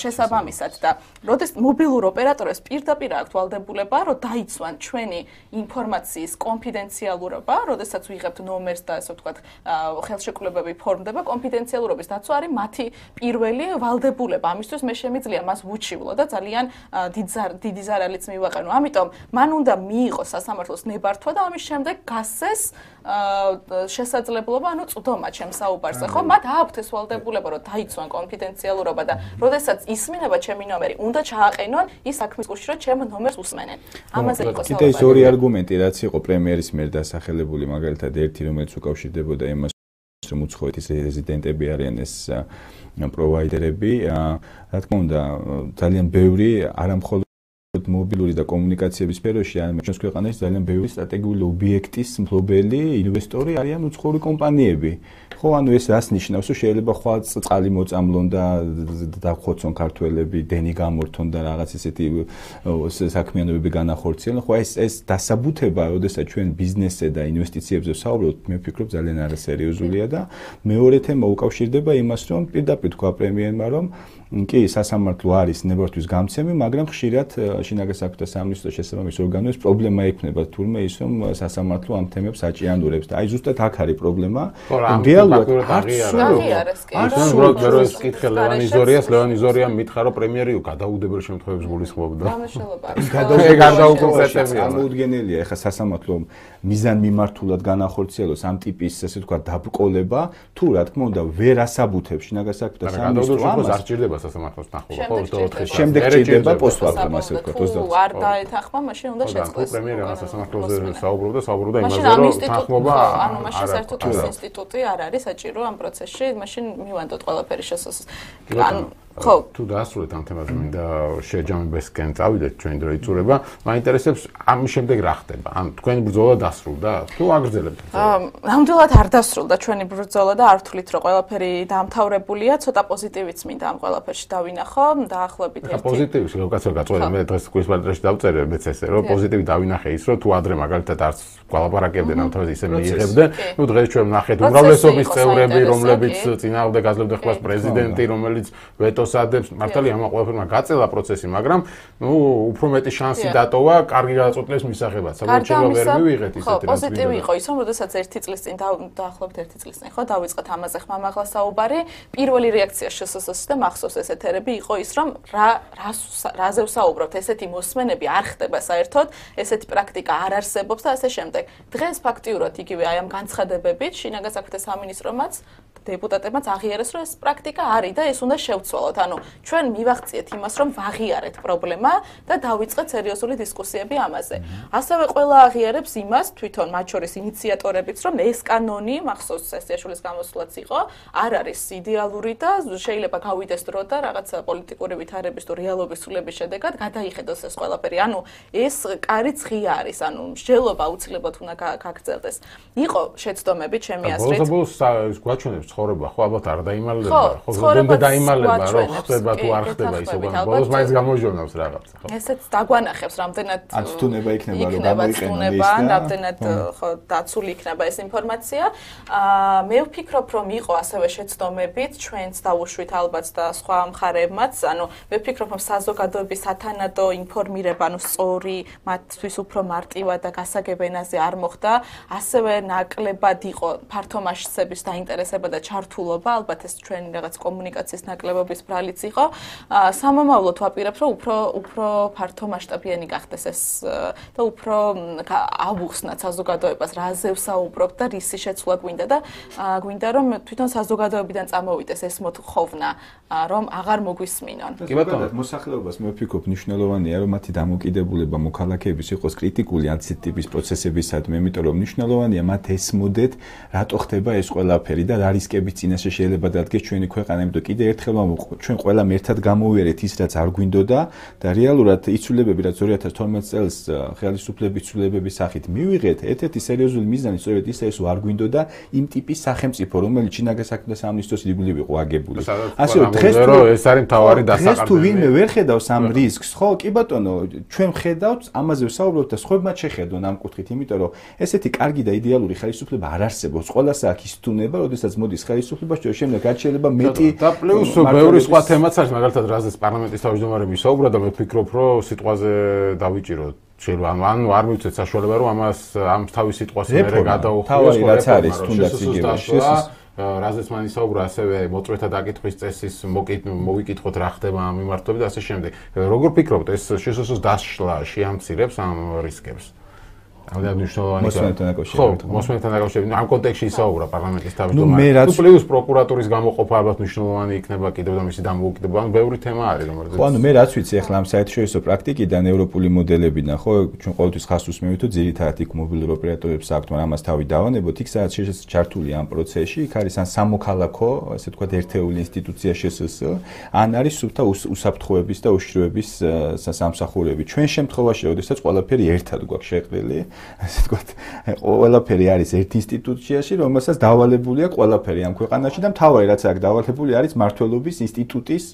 შესაბამისად და როდესაც მობილურ ოპერატორებს პირდაპირ აქვთ ვალდებულება, რომ დაიცვან ჩვენი ინფორმაციის კონფიდენციალურობა, როდესაც ვიღებთ ნომერს და ასე ვთქვათ, ხელშეკრულებები ფორმდება, კონფიდენციალურობის დაცვა არის მათი პირველი ვალდებულება. ამისთვის მე შემიძლია მას ვუჩივლო და ძალიან დიდი ზარალიც მივაყენო. ამიტომ მან უნდა მიიღოს სასამართლოს ნებართვა და ამის შემდეგ გასცეს შესაძლებლობა, ანუ წვდომა ჩემს საუბარზე, ხო? მათ აქვთ ეს ვალდებულება, რომ დაიცვან კონფიდენციალურობა და როდესაც ისმინება ჩემი ნომერი, უნდა ჩააყენონ ის საქმის კურსში, რომ ჩემ ნომერს უსმენენ. ამაზე იყო საუბარი. კიდე ის ორი არგუმენტი, რაც იყო პრემიერის მიერ დასახელებული, მაგალითად ერთი, რომელიც უკავშირდებოდა იმას, რომ უცხოეთის რეზიდენტები არიან ეს პროვაიდერები, რა თქმა უნდა, ძალიან ბევრი არამხოლოდ მობილური და კომუნიკაციების სფეროში, ან ჩვენს ქვეყანაში ძალიან ბევრი სტრატეგიული ობიექტის მფლობელი ინვესტორი არიან უცხოური კომპანიები. ხო, ანუ ეს რას ნიშნავს, რომ შეიძლება ხვალ წყალი მოწამლონ და დახოცონ ქართველები, დენი გამორთონ და რაღაც ესეთი საქმიანობები განახორციელონ. ხო, ეს ეს დასაბუთება, როდესაც ჩვენ ბიზნესზე და ინვესტიციებზე ვსაუბრობთ, მე ვფიქრობ ძალიან არასერიოზულია და მეორე თემა უკავშირდება იმას, რომ პირდაპირ თქვა პრემიერმა, რომ კი, სასამართლო არის ნებართვის გამცემი, მაგრამ ხშირად შინაგან საქმეთა სამინისტროს შესაბამის ორგანოებს პრობლემა ექნება თურმე ის, რომ სასამართლო ამ თემებს აჭიანურებს და აი ზუსტად აქ არის პრობლემა. რეალურად აღიარეს კი. უბრალოდ მე რო ეს კითხე ლევან იზორიას, ლევან იზორიამ მითხრა, რომ პრემიერი გადაუდებელ შემთხვევებს გულისხმობდა. გამშველობა. გადაუკონკრეტებია. გამოუდგენელია ეხა სასამართლო მიზან მიმართულად განახორციელოს ამ ტიპის, ასე ვთქვათ, დაბრკოლება, თუ რა თქმა უნდა ვერ ასაბუთებს შინაგან საქმეთა სამინისტრო ამას. არ ჭირდება სასამართლოს თანხმობა, ხო, ოცდაოთხ წელს. შემდეგ ჭირდება პოსტფაქტუმ, ასე ვთქვათ, ოცდაოთხ. თუ არ დაეთანხმა, მაშინ უნდა შეწყდეს. პრემიერმა სასამართლოზე საუბრობდა, საუბრობდა იმაზე, რომ თანხმობა ანუ მაშინ საერთოდ ეს ინსტიტუტი არ არის საჭირო ამ პროცესში, მაშინ მივანდოთ ყველაფერი შესაძლოა. ანუ ხო, თუ დაასრულეთ ამ თემაზე, მინდა შეჯამებისკენ წავიდეთ ჩვენი დრო იწურება. მაინტერესებს ამის შემდეგ რა ხდება? ან თქვენი ბრძოლა დასრულდა? თუ აგრძელებთ? ნამდვილად არ დასრულდა ჩვენი ბრძოლა და არ ვთვლით, რომ ყველაფერი დაამთავრებულია, ცოტა პოზიტივიც მინდა ამ ყველაფერში დავინახო, დაახლოებით ერთი. პოზიტივი, კაცო გაწყვეტე, მე დღეს კვირს პატრიაში დავწერე მეც ესე, რომ პოზიტივი დავინახე ის, რომ თუ ადრე მაგალითად არც გვალაპარაკებდნენ ამ თემაზე ისე მიიღებდნენ, ნუ დღეს ჩვენ ვნახეთ უმრავლესობის წევრები, რომლებიც წინააღმდეგ აძლევდნენ ხმას პრეზიდენტი, რომელიც ვეტოს ადებს, მართალია ამ ყველაფერმა გაწელა პროცესი, მაგრამ ნუ უფრო მეტი შანსი დატოვა კარგი გადაწყვეტილების მისაღებად. საბოლოოდ შეიძლება ვერ მივიღეთ ისეთი რა. ხო, პოზიტივი იყო ის, რომ როდესაც ერთი წლის წინ დაახლოებით ერთი წლის წინ ხო დავიწყეთ ამაზე ხმამაღლა საუბარი, პირველი რეაქცია შსს-ს და მახსოვს ეს ეთერები იყო ის, რომ რა რაზე ვსაუბრობთ, ესეთი მოსმენები არ ხდება საერთოდ, ესეთი პრაქტიკა არ არსებობს და ასე შემდეგ. დღეს ფაქტიურად იგივე აი ამ განცხადებებით შინაგან საქმეთა სამინისტრომაც დეპუტატებმაც აღიარეს, რომ ეს პრაქტიკა არის და ეს უნდა შევცვალოთ. ანუ ჩვენ მივახციეთ იმას, რომ ვაღიარეთ პრობლემა და დავიწყეთ სერიოზული დისკუსიები ამაზე. ასევე ყველა აღიარებს იმას, თვითონ მათ შორის ინიციატორებიც, რომ ეს კანონი, მახსოვს სესიაშვილის გამოსვლაც იყო, არ არის იდეალური და შეიძლება გავიდეს დრო და რაღაცა პოლიტიკური ვითარების თუ რეალობის სულების შედეგად გადაიხედოს ეს ყველაფერი. ანუ ეს კარიც ღია არის, ანუ მსჯელობა აუცილებლად უნდა გაგრძელდეს. იყო შეცდომები ჩემი აზრით. ბოლოს-ბოლოს გვაჩვენებს ცხოვრება ხო ალბათ არ დაიმალება, ხო ზოგადად დაიმალება, რომ ხდება თუ არ ხდება ისე ვარ. ბოლოს მაინც გამოჟონავს რაღაცა, ხო. ესეც დაგვანახებს რამდენად აცტუნება იქნება რომ გამოიყენონ ის და რამდენად ხო დაცული იქნება ეს ინფორმაცია. აა მე ვფიქრობ რომ იყო ასევე შეცდომებით, ჩვენც დავუშვით ალბათ და სხვა მხარეებმაც, ანუ მე ვფიქრობ რომ საზოგადოების სათანადო ინფორმირება, ანუ სწორი, მათთვის უფრო მარტივად და გასაგებ ენაზე არ მოხდა, ასევე ნაკლებად იყო ფართო მასშტაბის დაინტერესება და ჩართულობა, ალბათ ეს ჩვენი რაღაც კომუნიკაციის ნაკლებობის ბრალიც იყო. სამომავლოდ ვაპირებ, რომ უფრო უფრო ფართო მასშტაბიანი გახდეს ეს და უფრო ავუხსნათ საზოგადოებას, რაზე ვსაუბრობთ და რისი შეცვლა გვინდა და გვინდა რომ თვითონ საზოგადოებიდან წამოვიდეს ეს მოთხოვნა, რომ აღარ მოგვისმინონ. კი ბატონო, მოსახლეობას მე ვფიქრობ მნიშვნელოვანია რომ მათი დამოკიდებულება მოქალაქეების იყოს კრიტიკული ამ ტიპის პროცესებისადმი, იმიტომ რომ მნიშვნელოვანია მათ ესმოდეთ, რატო ხდება ეს ყველაფერი და რა რისკების წინაშე შეიძლება დადგეს ჩვენი ქვეყანა, იმიტომ კიდე ერთხელ ჩვენ ყველამ ერთად გამოვიარეთ ის, რაც არ გვინდოდა და რეალურად იცვლებები, რაც ორი ათას თორმეტ წელს ხელისუფლების ცვლილებების სახით მივიღეთ, ერთ-ერთი სერიოზული მიზანი სწორედ ისაა, ეს არ გვინდოდა იმ ტიპის სახელმწიფო, რომელიც ჩინაგას საქმეთა სამინისტროს ირგვლივ იყო აგებული. ასე რომ დღეს თუ ეს არის მთავარი დასაყრდენი. დღეს თუ ვინმე ვერ ხედავს ამ რისკს, ხო, კი ბატონო, ჩვენ ხედავთ, ამაზე ვსაუბრობთ და სხვებმაც შეხედონ ამ კუთხით, იმიტომ რომ ესეთი კარგი და იდეალური ხელისუფლება არ არსებობს. ყველას აქვს ის თუნება, როდესაც მოდის ხელისუფლება, შემდეგ რაც შეიძლება მეტი და პლუს ბევრი სხვა თემაც არის, მაგალითად, რაზეც პარლამენტის თავმჯდომარე მისაუბრა და მე ვფიქრობ, რომ სიტყვაზე დავიჭიროთ. შეიძლება ანუ არ მივცეთ საშუალება, რომ ამას ამ თავის სიტყვას მერე გადაუხმოს რაც არის, თუნდაც იგივე შესაძლოა. რაზეც მან ისაუბრა, ასევე მოწვეთა დაკითხვის წესის მოვიკითხოთ რა ხდება ამ მიმართულებით და ასე შემდეგ. როგორ ფიქრობთ, ეს შესაძლოა დასშლა შეამცირებს ამ რისკებს? ამდენ მნიშვნელოვანი მოსმენთან დაკავშირებით. ხო, მოსმენთან დაკავშირებით. ამ კონტექსტში ისაუბრა პარლამენტის თავმჯდომარე. თუ პლუს პროკურატურის გამოყოფა ალბათ მნიშვნელოვანი იქნება კიდევ და მისი დამოუკიდებლობა. ანუ ბევრი თემა არის, რომელზეც. ხო, ანუ მე რაც ვიცი ახლა ამ საერთაშორისო პრაქტიკიდან, ევროპული მოდელებიდან, ხო, ჩვენ ყოველთვის ხას უსმევთ, თუ ძირითადად იქ მობილურ ოპერატორებს აქვთ, მაგრამ ამას თავი დავანებოთ, იქ სადაც შესაძლოა ჩართული ამ პროცესში, იქ არის ან სამოქალაქო, ასე ვთქვათ, ერთეული ინსტიტუცია შესს, ან არის სულთა უსაფრთხოების და უშიშროების სამსახურები. ჩვენ შემთხვევაში, როდესაც ყველაფერი ერთად გვაქვს შეყრილი, ასე ვთქვათ, ყველაფერი არის ერთ ინსტიტუციაში, რომელსაც დავალებულია ყველაფერი ამ ქვეყანაში და მთავარი რაც აქვს დავალებული არის მმართველობის ინსტიტუტის,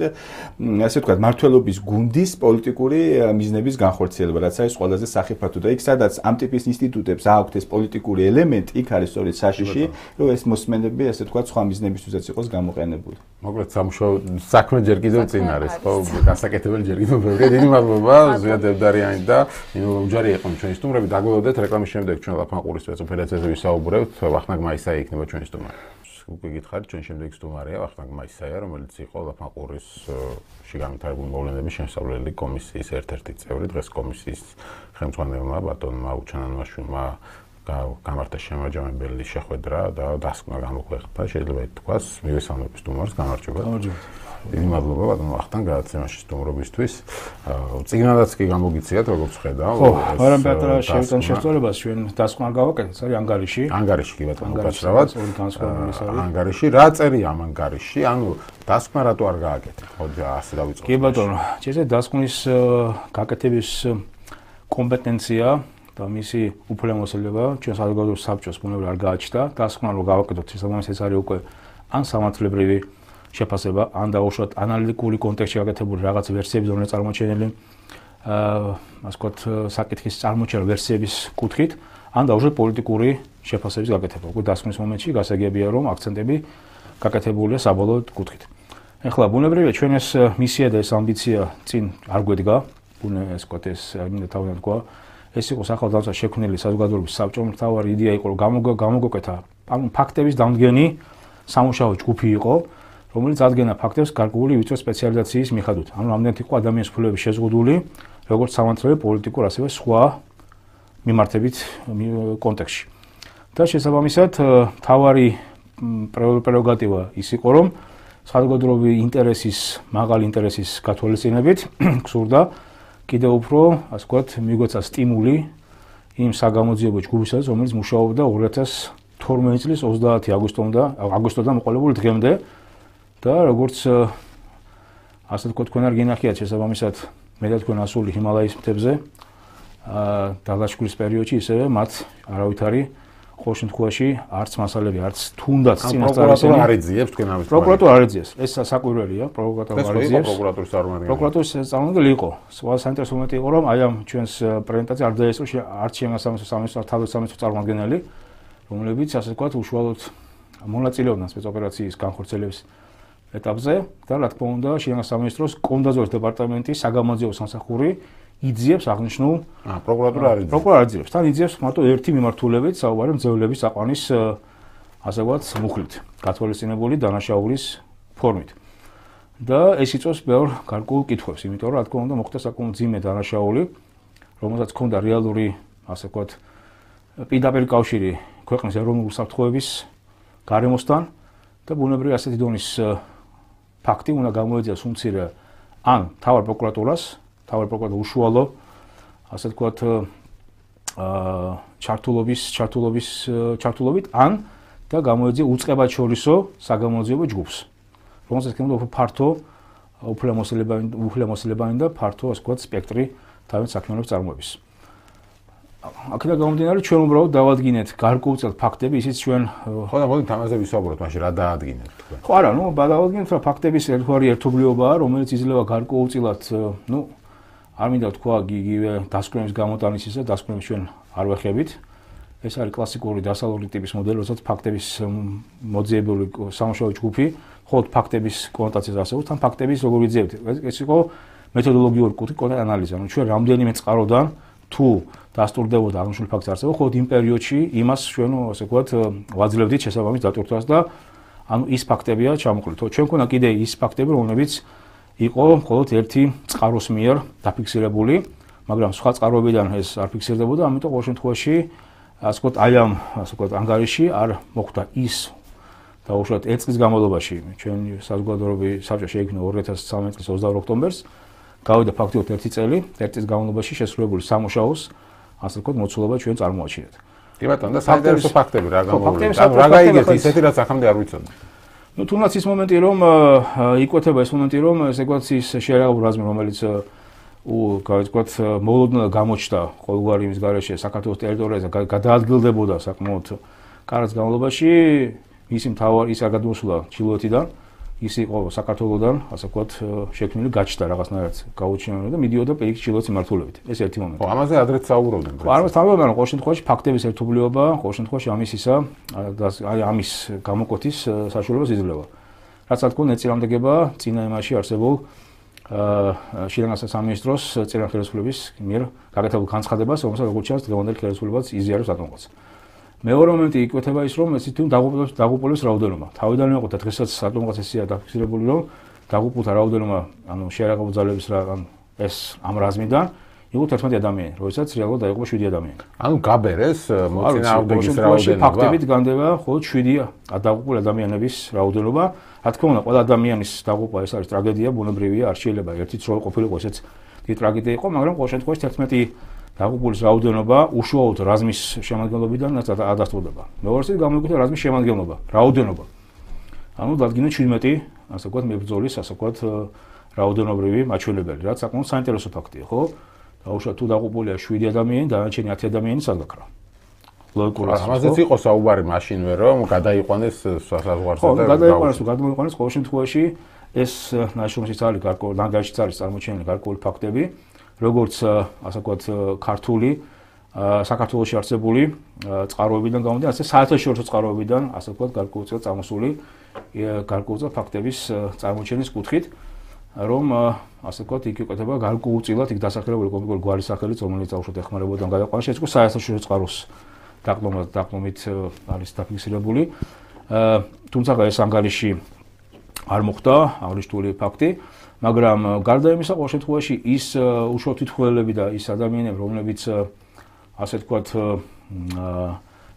ასე ვთქვათ, მმართველობის გუნდის პოლიტიკური მიზნების განხორციელება, რაც არის ყველაზე სახიფათო და იქ სადაც ამ ტიპის ინსტიტუტებს აქვთ ეს პოლიტიკური ელემენტი, იქ არის სწორედ საშიში, რომ ეს მოსმენები, ასე ვთქვათ, სხვა მიზნებისთვისაც იყოს გამოყენებული. მოკლედ სამუშაო საქმე ჯერ კიდევ წინ არის, ხო, გასაკეთებელი ჯერ კიდევ ბევრია. დიდი მადლობა ზვიად დევდარიანი და ნინო უჯარი იყო ჩვენი სტუმრები. დაგველოდეთ რეკლამის შემდეგ ჩვენ ლაფანყურის სპეციალ ფედერაციაზე ვისაუბრებთ. ვახტანგ მაისაი იქნება ჩვენი სტუმარი. უკვე გითხარით, ჩვენ შემდეგ სტუმარია ვახტანგ მაისაია, რომელიც იყო ლაფანყურის შეგამთავრებული მოვლენების შემსწავლელი კომისიის ერთ-ერთი წევრი. დღეს კომისიის ხელმძღვანელმა ბატონმა უჩანანვაშვილმა გამართა შემაჯამებელი შეხვედრა და დასკვნა გამოქვეყნდა. შეიძლება ითქვას, მივესალმებ სტუმარს, გამარჯობა. გამარჯობა. დიდი მადლობა ბატონ ვახტანგ გადაცემაში სტუმრობისთვის. წიგნადაც კი გამოგიციათ, როგორც ხედავ. ხო, მაგრამ პატრა შევიტან შესწავლებას ჩვენ დასკვნა გავაკეთეთ, არის ანგარიში. ანგარიში კი ბატონო, უკაცრავად. ორი განსხვავებული არის. ანგარიში, რა წერია ამ ანგარიში? ანუ დასკვნა რატო არ გააკეთეთ? ხო, ასე დავიწყოთ. კი ბატონო, შეიძლება დასკვნის გაკეთების კომპეტენცია და მისი უფლებამოსილება ჩვენ საზოგადოების საბჭოს ბუნებრივად არ გააჩნდა. დასკვნა რო გავაკეთოთ, შესაბამისად ეს არის უკვე ან სამართლებრივი შეფასება, ან დაუშვათ ანალიტიკური კონტექსტში გაკეთებული რაღაც ვერსიების, რომელიც წარმოჩენილი აა, ასე ვთქვათ, საკითხის წარმოჩენა ვერსიების კუთხით, ან დაუშვათ პოლიტიკური შეფასების გაკეთება. უკვე დასკვნის მომენტში გასაგებია, რომ აქცენტები გაკეთებულია საბოლოო კუთხით. ეხლა ბუნებრივია ჩვენ ეს მისია და ეს ამბიცია წინ არ გვედგა, ბუნებრივია ეს ვთქვათ, ეს მინდა თავიდან თქვა, ეს იყო სახელმწიფო შექმნილი საზოგადოების საბჭომ, მთავარი იდეა იყო, რომ გამოგეკეთა, ანუ ფაქტების დამდგენი სამუშაო ჯგუფი იყო, რომელიც ადგენა ფაქტებს გარკვეული ვიწრო სპეციალიზაციის მიხედვით. ანუ რამდენად იყო ადამიანის უფლებები შეზღუდული, როგორც სამართლებრივ, პოლიტიკურ, ასევე სხვა მიმართებით კონტექსტში. და შესაბამისად, თავარი პრეროგატივა ის იყო, რომ საზოგადოებრივი ინტერესის, მაღალი ინტერესის გათვალისწინებით გსურდა კიდევ უფრო, ასე ვთქვათ, მიგვეცა სტიმული იმ საგამოძიებო ჯგუფისას, რომელიც მუშაობდა ორი ათას თორმეტი წლის ოცდაათი აგვისტომდე, აგვისტოდან მოყოლებული დღემდე. და როგორც ასე ვთქვათ, თქვენ არ გინახიათ შესაბამისად მე და თქვენ ასული ჰიმალაის მთებზე აა დალაშქრის პერიოდში ისევე მათ არავითარი ყოველ შემთხვევაში არც მასალები, არც თუნდაც წინასწარი არ ეძიებს თქვენ ამის. პროკურატურა არ ეძიებს. ეს საკვირველია, პროკურატურა არ ეძიებს. პროკურატურის წარმომადგენელი. პროკურატურის წარმომადგენელი იყო. სხვა საინტერესო მომენტი იყო, რომ აი ამ ჩვენს პრეზენტაციაში არ დაესწრო არც შემოსამართლოს თავდაცვის წარმომადგენელი, რომლებიც ასე ვთქვათ, უშუალოდ მონაწილეობდნენ სპეცოპერაციის განხორციელების ეტაპზე და რა თქმა უნდა, შემოსამართლოს კონდაზვრის დეპარტამენტის საგამოძიებო სამსახური იძიებს აღნიშნულ აა პროკურატურა არ იძიებს. პროკურატურა არ იძიებს. თან იძიებს მარტო ერთი მიმართულებით, საუბარი მძევლების აყვანის ასე ვთქვათ, მუხლით, გათვალისწინებული დანაშაულის ფორმით. და ეს იწვევს ბევრ გარკვეულ კითხვებს, იმიტომ რომ რა თქმა უნდა, მოხდა საკმაოდ ძიმე დანაშაული, რომელსაც ჰქონდა რეალური, ასე ვთქვათ, პირდაპირ კავშირი ქვეყნის ეროვნული უსაფრთხოების გარემოსთან და ბუნებრივი ასეთი დონის ფაქტი უნდა გამოეძიოს უმცირე ან თავარ პროკურატურას თავარ პროკურატურას უშუალო ასე ვთქვათ აა ჩართულობის ჩართულობის ჩართულობით ან და გამოეძია უწყებად შორისო საგამოძიებო ჯგუფს რომელსაც ქონდა უფრო ფართო უფლებამოსილებანი უფლებამოსილებანი და ფართო ასე ვთქვათ სპექტრი თავის საქმიანობის წარმოების აქედან გამომდინარე ჩვენ უბრალოდ დავადგინეთ გარკვეულწილად ფაქტები ისიც ჩვენ ხო და მოდით ამაზე ვისაუბროთ მაშინ რა დაადგინეთ თქვენ ხო არა ნუ დავადგინეთ რა ფაქტების ერთგვარი ერთობლიობაა რომელიც იძლევა გარკვეულწილად ნუ არ მინდა თქვა იგივე დასკვნების გამოტანისისა დასკვნებს ჩვენ არ ვეხებით ეს არის კლასიკური დასალური ტიპის მოდელი როდესაც ფაქტების მოძიებული სამუშაო ჯგუფი მხოლოდ ფაქტების კონოტაციას ასეულს თან ფაქტების როგორ ვიძიებთ ეს იყო მეთოდოლოგიური კუთხით კონტ ანალიზა ანუ ჩვენ რამდენიმე წყაროდან თუ დასტურდებოდა აღნიშნული ფაქტს არსებობა, ხოლო იმ პერიოდში იმას ჩვენ ასე ვთქვათ ვაძლევდით შესაბამის დატვირთვას და ანუ ის ფაქტებია ჩამოყრილი. თუ ჩვენ ქონა კიდე ის ფაქტები, რომლებიც იყო მხოლოდ ერთი წყაროს მიერ დაფიქსირებული, მაგრამ სხვა წყაროებიდან ეს არ ფიქსირდებოდა, ამიტომ ყოველ შემთხვევაში ასე ვთქვათ აი ამ ასე ვთქვათ ანგარიში არ მოხდა ის და უშუალოდ ერთ წლის განმავლობაში ჩვენ საზოგადოებრივი საბჭო შეიქმნა ორი ათას ცხრამეტი წლის ოცდაორი ოქტომბერს გავიდა ფაქტიურად ერთი წელი, ერთ წლის განმავლობაში შესრულებული სამუშაოს ასე ვთქვათ მოცულობა ჩვენ წარმოაჩინეთ. კი ბატონო, და საინტერესო ფაქტები რა გამოვლინდა? რა გაიგეთ ისეთი რაც ახამდე არ ვიცოდი. ნუ თუნდაც ის მომენტი რომ იკვეთება ეს მომენტი რომ ესე ვთქვათ ის შეერაგებული რაზმი რომელიც უ გავიცქვათ მოულოდნელად გამოჩნდა ყოველგვარი იმის გარეშე საქართველოს ტერიტორიაზე გადაადგილდებოდა საკმაოდ კარგ განმავლობაში მისი მთავარი ის არ გადმოსულა ჩილოეთიდან ის იყო საქართველოსდან, ასე ვთქვათ, შექმნილი გაჩნდა რაღაცნაირად გაუჩინარებული და მიდიოდა პირიქით ჩილოეთის მიმართულებით. ეს ერთი მომენტი. ხო, ამაზე ადრეც საუბრობდნენ. ხო, ამას თავებიდან ყოველ შემთხვევაში ფაქტების ერთობლიობა, ყოველ შემთხვევაში ამის ისა აი ამის გამოკვეთის საშუალებას იძლევა. რაც რა თქმა უნდა ეწინააღმდეგება წინა იმაში არსებულ აა შინაგან სამინისტროს წინა ხელისუფლების მიერ გაკეთებულ განცხადებას, რომელსაც როგორც ჩანს დღევანდელი ხელისუფლებაც იზიარებს ატომობას. მეორე მომენტი იკვეთება ის რომ ეს თვითონ დაღუპულების დაღუპულების რაოდენობა. თავიდან მეყოთა დღესაც ატომობას ესია დაფიქსირებული რომ დაღუპულთა რაოდენობა, ანუ შეერაგებული ძალების რა ან ეს ამ რაზმიდან იყო თერთმეტი ადამიანი, როდესაც რეალურად დაიღუპა შვიდი ადამიანი. ანუ გაბერეს მოწინააღმდეგის რაოდენობა. ფაქტებით განდება მხოლოდ შვიდი დაღუპულ ადამიანების რაოდენობა. რა თქმა უნდა, ყველა ადამიანის დაღუპვა ეს არის ტრაგედია, ბუნებრივია, არ შეიძლება ერთიც რო ყოფილიყო ესეც დიდი ტრაგედია იყო, მაგრამ ყოველ შემთხვევაში თერთმეტი დაღუპულის რაოდენობა უშუალოდ რაზმის შემადგენლობიდან ადასტურდება. მეორეც გამოიკვეთა რაზმის შემადგენლობა, რაოდენობა. ანუ დადგინეთ შვიდმეტი, ასე ვთქვათ, მებრძოლის, ასე ვთქვათ, რაოდენობრივი მაჩვენებელი, რაც საკმაოდ საინტერესო ფაქტია, ხო? დაუშვათ თუ დაღუპულია შვიდი ადამიანი, დანარჩენი ათი ადამიანი სადღაკრა. ლოგიკურად. ამაზეც იყო საუბარი მაშინვე, რომ გადაიყვანეს საზღვარზე და გადაიყვანეს, გადმოიყვანეს ყოველ შემთხვევაში ეს ნაშრომშიც არის გარკვეული, ნანგარიშიც არის წარმოჩენილი გარკვეული ფაქტები. როგორც ასე ვთქვათ ქართული საქართველოში არსებული წყაროებიდან გამომდინარე, ასე საერთაშორისო წყაროებიდან, ასე ვთქვათ, გარკვეულწილად წამოსული გარკვეულწილად ფაქტების წარმოჩენის კუთხით, რომ ასე ვთქვათ, იქ იკვეთება გარკვეულწილად იქ დასახელებული კონკრეტული გვარის სახელით, რომელიც აუშვათ ეხმარებოდა გადაყვანა, შეეცგო საერთაშორისო წყაროს დაყრდნობით დაყრდნობით არის დაფიქსირებული. თუმცა ეს ანგარიში არ მოხდა აღნიშნული ფაქტი. მაგრამ გარდა იმისა, ყოველ შემთხვევაში ის უშუალოდ თვითმხილველები და ის ადამიანები, რომლებიც ასე ვთქვათ,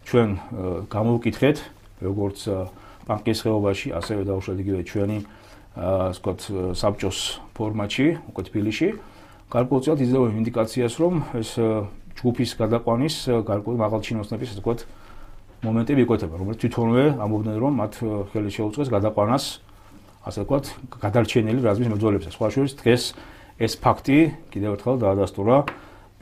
ჩვენ გამოვკითხეთ, როგორც ბანკის ხეობაში, ასევე დაუშვათ იგივე ჩვენი ასე ვთქვათ, საბჭოს ფორმატში, უკვე თბილისში, გარკვეულწილად იძლევა ინდიკაციას, რომ ეს ჯგუფის გადაყვანის გარკვეული მაღალჩინოსნების, ასე ვთქვათ, მომენტები იკვეთება, რომელიც თვითონვე ამბობდნენ, რომ მათ ხელი შეუწყეს გადაყვანას ასე ვთქვათ, გადარჩენილი რაზმის მებრძოლებისა. სხვა შორის დღეს ეს ფაქტი კიდევ ერთხელ დაადასტურა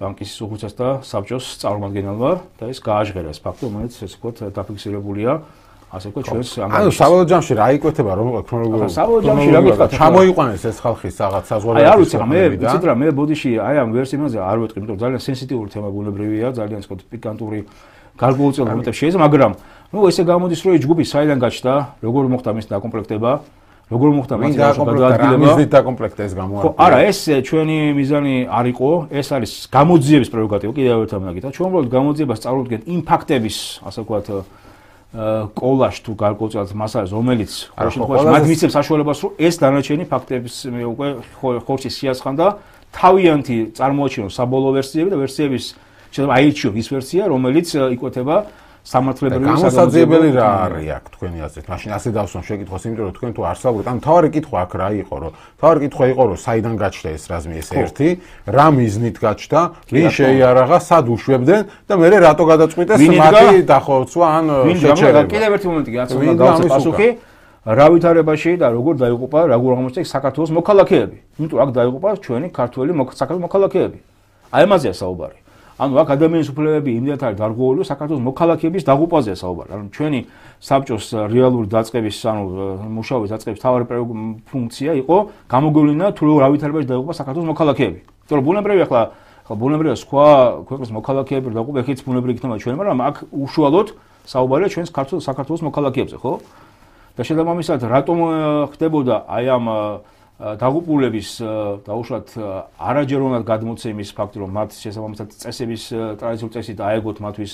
ბანკის უხუცეს და საბჭოს წარმომადგენელმა და ეს გააჟღერა ეს ფაქტი, რომელიც ესე ვთქვათ დაფიქსირებულია, ასე ვთქვათ ჩვენს ანუ საბოლოო ჯამში რა იკვეთება რომ ქრონოლოგიურად საბოლოო ჯამში რა გითხრათ ჩამოიყვანეს ეს ხალხის რაღაც საზღვარგარეთ. აი არ ვიცი, მე ვიცით რა, მე ბოდიში აი ამ ვერსიაზე არ ვეტყვი, იმიტომ რომ ძალიან სენსიტიური თემა ბუნებრივია, ძალიან ისე ვთქვათ პიკანტური გარკვეულწილ მომენტებში შეიძლება, მაგრამ ნუ ესე გამოდის რომ ჯგუფი საიდან გაჩნდა, როგორ მოხდა მის დაკომპლექტება, როგორ მოხდა მის გადაადგილება, მის დაკომპლექტება ეს გამოარკვევა. ხო, არა, ეს ჩვენი მიზანი არ იყო, ეს არის გამოძიების პრეროგატივა, კიდევ ერთხელ მოგითხრა, ჩვენ უბრალოდ გამოძიებას წარუდგენთ იმ ფაქტების, ასე ვთქვათ, კოლაჟ თუ გარკვეულწილად მასალას, რომელიც ყოველ შემთხვევაში მათ მისცემს საშუალებას, რომ ეს დანარჩენი ფაქტების უკვე ხორცი სიასხან და თავიანთი წარმოაჩინოს საბოლოო ვერსიები და ვერსიების შეიძლება აირჩიოთ ის ვერსია, რომელიც იკვეთება სამართლებრივი გამოსაძიებელი რა არის აქ თქვენი აზრით? მაშინ ასე დავსვამ შეკითხვას, იმიტომ რომ თქვენ თუ არსაუბრეთ, ანუ თავარი კითხვა აქ რა იყო, რომ თავარი კითხვა იყო, რომ საიდან გაჩნდა ეს რაზმი ეს ერთი, რა მიზნით გაჩნდა, ვინ შეიარაღა, სად უშვებდნენ და მე რატო გადაწყვიტეს მათი დახოცვა ან შეჩერება. კიდევ ერთი მომენტი გაცნო გავცე პასუხი. რა ვითარებაში და როგორ დაიღუპა, როგორ აღმოჩნდა საქართველოს მოქალაქეები. იმიტომ აქ დაიღუპა ჩვენი ქართველი საქართველოს მოქალაქეები. აი ამაზეა საუბარი. ანუ აქ ადამიანის უფლებები იმდენად არის დარღვეული, საქართველოს მოქალაქეების დაღუპვაზეა საუბარი. ანუ ჩვენი საბჭოს რეალური დაწყების, ანუ მუშაობის დაწყების თავარი ფუნქცია იყო გამოგვევლინა თუ რა ვითარებაში დაიღუპა საქართველოს მოქალაქეები. იმიტომ რომ ბუნებრივია ახლა ახლა ბუნებრივია სხვა ქვეყნის მოქალაქეები დაიღუპა, ეხიც ბუნებრივი იქნება ჩვენი, მაგრამ აქ უშუალოდ საუბარია ჩვენს საქართველოს საქართველოს მოქალაქეებზე, ხო? და შესაბამისად რატომ ხდებოდა აი ამ დაღუპულების დაუშვათ არაჯეროვნად გადმოცემის ფაქტი, რომ მათ შესაბამისად წესების ტრადიციული წესით აეგოთ მათთვის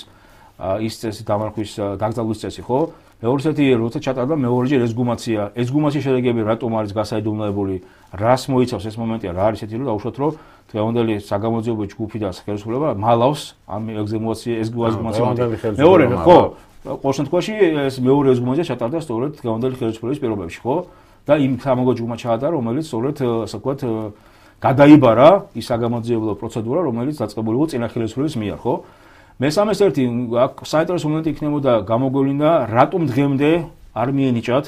ის წესი დამარხვის დაკრძალვის წესი, ხო? მეორედი როცა ჩატარდა მეორეჯერ ესგუმაცია, ესგუმაციის შედეგები რატომ არის გასაიდუმლოებული, რას მოიცავს ეს მომენტია, რა არის ესეთი, რომ დაუშვათ რომ დღევანდელი საგამოძიებო ჯგუფი და ხელისუფლება მალავს ამ ეგზემაცია ესგუმაცია. მეორე ხო, ყოველ შემთხვევაში ეს მეორე ესგუმაცია ჩატარდა სწორედ დღევანდელი ხელისუფლების პირობებში, ხო? და იმ სამოგოჯგუფმა ჩაატარა, რომელიც სწორედ ასე ვთქვათ გადაიბარა ის საგამოძიებლო პროცედურა, რომელიც დაწყებული იყო წინა ხელისუფლების მიერ, ხო? მესამეს ერთი აქ საინტერესო მომენტი იქნებოდა გამოგვევლინა, რატომ დღემდე არ მიენიჭათ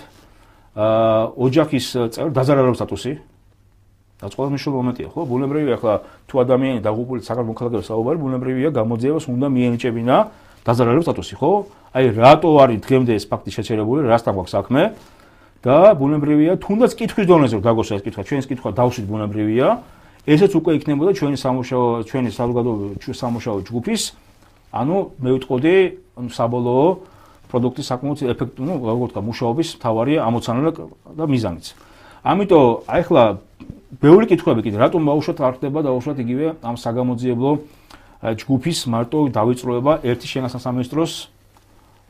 აა ოჯახის წევრ დაზარალების სტატუსი? რაც ყველაზე მნიშვნელოვანი მომენტია, ხო? ბუნებრივია ახლა თუ ადამიანი დაღუპული საქართველოს მოქალაქეებს საუბარი, ბუნებრივია გამოძიებას უნდა მიენიჭებინა დაზარალების სტატუსი, ხო? აი რატო არის დღემდე ეს ფაქტი შეჩერებული, რასთან გვაქვს საქმე? და ბუნებრივია, თუნდაც კითხვის დონეზე რომ დაგოსვა ეს კითხვა, ჩვენს კითხვა დავსვით ბუნებრივია, ესეც უკვე იქნებოდა ჩვენი სამუშაო, ჩვენი საზოგადოებრივი სამუშაო ჯგუფის, ანუ მე ვიტყოდი, საბოლოო პროდუქტის საკმაოდ ეფექტური, ну, როგორ ვთქვა, მუშაობის მთავარი ამოცანა და მიზანიც. ამიტომ აი ახლა ბევრი კითხვები კიდე, რატომ ბაუშოთ არ ხდება დაუშვათ იგივე ამ საგამოძიებლო ჯგუფის მარტო დავიწროება ერთი შენასა სამინისტროს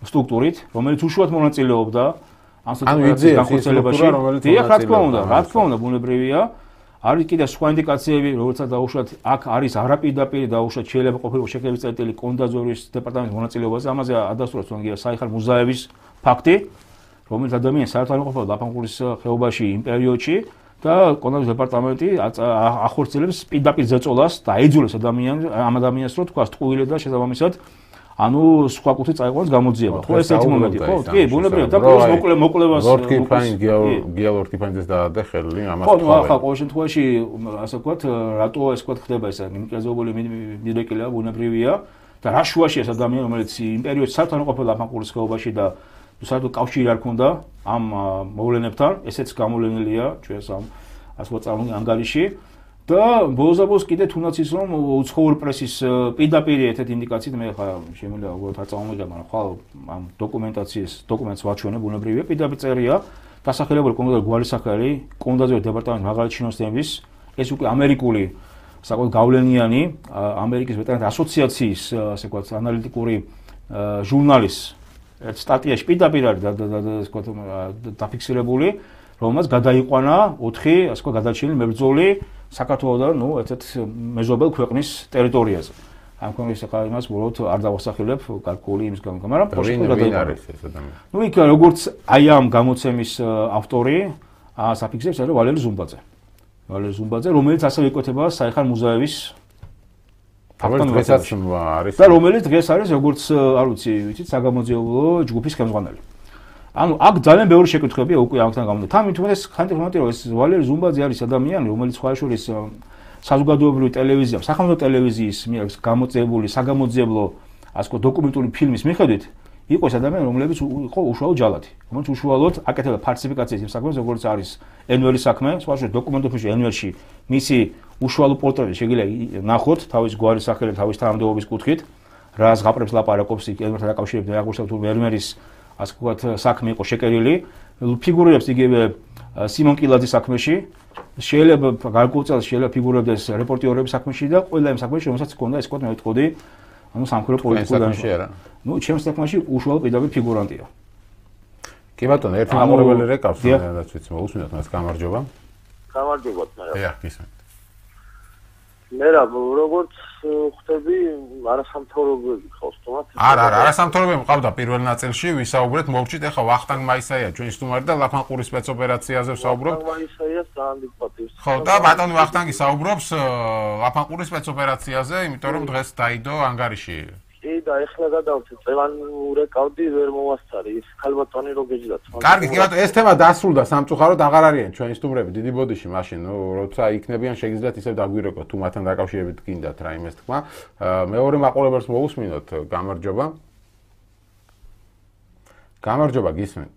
სტრუქტურით, რომელიც უშუალოდ მონაწილეობდა ანუ იდეა განხორციელებაში, დიახ, რა თქმა უნდა, რა თქმა უნდა, ბუნებრივია. არის კიდე სხვა ინდიკაციები, როდესაც დაუშვათ აქ არის არაპირდაპირ დაუშვათ შეიძლება ყოფილიყო შეკრების წერტილი კონდაზორის დეპარტამენტის მონაწილეობაზე, ამაზე ადასტურებს თუნდაც საიხარ მუზაევის ფაქტი, რომელიც ადამიანს საერთოდ არ ყოფილა ლაფანყურის ხეობაში იმ პერიოდში და კონდაზორის დეპარტამენტი ახორციელებს პირდაპირ ზეწოლას და აიძულებს ადამიანს ამ ადამიანს რომ თქვა ტყუილე და შესაბამისად ანუ სხვა კუთხით წაიყვანოს გამოძიება. ხო, ეს ერთი მომენტი, ხო? კი, ბუნებრივია და პლუს მოკლე მოკლებას ლორდ კიფაინ გიალორდ კიფაინს დაადე ხელი ამას. ხო, ნუ ახლა ყოველ შემთხვევაში ასე ვთქვათ, რატო ეს ვთქვათ ხდება ეს იმკრეზობული მიდრეკილია ბუნებრივია და რა შუაში ეს ადამიანი, რომელიც იმ პერიოდში საერთოდ არ ყოფილა ლაფანყურის ხეობაში და საერთოდ კავშირი არ ქონდა ამ მოვლენებთან, ესეც გამოვლენილია ჩვენს ამ ასე ვთქვათ წარმოგიდგენთ ანგარიში. და ბოლოს კიდე თუნდაც ის რომ უცხოური პრესის პირდაპირ ერთ-ერთი ინდიკაციით მე ხა შემიძლია უბრალოდ არ წამომიგდა, მაგრამ ხვალ ამ დოკუმენტაციის დოკუმენტს ვაჩვენე ბუნებრივია, პირდაპირ წერია დასახელებული კონკრეტული გვალისახარი კონდაზიორის დეპარტამენტის მაღალი ჩინოსნების, ეს უკვე ამერიკული საკუთარ გავლენიანი ამერიკის ვეტერანთა ასოციაციის ასე ვთქვათ ანალიტიკური ჟურნალის სტატიაში პირდაპირ არის ასე ვთქვათ დაფიქსირებული, რომელმაც გადაიყვანა ოთხი ასე ვთქვათ გადარჩენილი მებრძოლი საქართველოსთან, ну, ერთ-ერთ მეზობელ ქვეყნის ტერიტორიაზე. ამ კონკრეტულ ახლა იმას უბრალოდ არ დავასახელებ გარკვეული იმის გამო, მაგრამ პროსტიტუტა არის ეს ადამიანი. ну, იქ როგორც აი ამ გამოცემის ავტორი, საფიქსებს არის ვალერი ზუმბაძე. ვალერი ზუმბაძე, რომელიც ასევე იკვეთება საიხარ მუზაევის რომელიც არის და რომელიც დღეს არის როგორც არ ვიცი, ვიცით, საგამოძიებო ჯგუფის ხელმძღვანელი. ანუ აქ ძალიან ბევრი შეკითხვებია უკვე ამთან გამომდა. თან თუმცა ხანტიფონტი რომ ეს ვალერი ზუმბაძე არის ადამიანი, რომელიც ხვალშორის საზოგადოებრივი ტელევიზია, სახელმწიფო ტელევიზიის მიერ გამოწვეული საგამოძიებლო ასე ვთქვათ დოკუმენტური ფილმის მიხედვით იყო ეს ადამიანი, რომლებიც იყო უშუალო ჯალათი, რომელიც უშუალოდ აკეთებდა ფალსიფიკაციას იმ საქმეს, როგორც არის ენვერის საქმე, სხვაშორის დოკუმენტურ ფილმში ენვერში მისი უშუალო პორტრეტი შეიძლება ნახოთ თავის გვარის სახელით, თავის თანამდებობის კუთხით, რა ზღაპრებს ლაპარაკობს ენვერთან დაკავშირებით, აღნიშნავ თუ ენვერის ასე ვთქვათ საქმე იყო შეკერილი, ფიგურებს იგივე სიმონ კილაძის საქმეში, შეიძლება გარკვეულწილად შეიძლება ფიგურებდეს რეპორტიორების საქმეში და ყველა იმ საქმეში, რომელსაც ჰქონდა ეს ვთქვათ მე ვიტყოდი, ანუ სამხედრო პოლიტიკურ საქმეში არა. ნუ ჩემს საქმეში უშუალო პირდაპირ ფიგურანტია. კი ბატონო, ერთი მაყურებელი რეკავს, რაც ვიცი, მოусმინოთ მას გამარჯობა. გამარჯობა თმარა. დიახ, გისმენთ. მე რა როგორც ხვდები, არასამთავრობოები ხავს თუმცა არა, არა, არასამთავრობოები მყავდა პირველ ნაწილში, ვისაუბრეთ, მოვჭით ახლა ვახტანგ მაისაია ჩვენი სტუმარი და ლაფანყურის სპეცოპერაციაზე ვსაუბრობთ. ვახტანგ მაისაიას ძალიან დიდ პატივს. ხო, და ბატონი ვახტანგი საუბრობს ლაფანყურის სპეცოპერაციაზე, იმიტომ რომ დღეს დაიდო ანგარიში. კი და ეხლა გადავწე წელან ურეკავდი ვერ მოვასწარი ის ქალბატონი რო გეჯდათ. კარგი, კი ბატონო, ეს თემა დასრულდა სამწუხაროდ აღარ არიან ჩვენი სტუმრები დიდი ბოდიში მაშინ, ნუ როცა იქნებიან შეგიძლიათ ისევ დაგვირეკოთ თუ მათთან დაკავშირებით გინდათ რაიმეს თქმა. მეორე მაყურებელს მოусმინოთ, გამარჯობა. გამარჯობა, გისმენთ.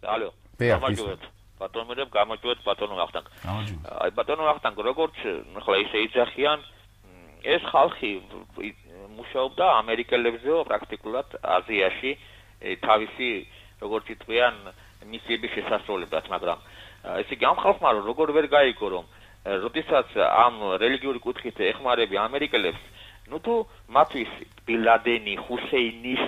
ალო. გამარჯობა. ბატონო მე გამარჯობთ ბატონო ვახტანგ. გამარჯობა. აი ბატონო ვახტანგ, როგორც ახლა ისე იძახიან ეს ხალხი მუშაობდა ამერიკელებზე პრაქტიკულად აზიაში თავისი როგორც იტყვიან მისიების შესასრულებლად, მაგრამ ესე იგი ამ ხალხმა როგორ ვერ გაიგო რომ როდესაც ამ რელიგიური კუთხით ეხმარები ამერიკელებს, ნუ თუ მათთვის ბილადენი, ჰუსეინის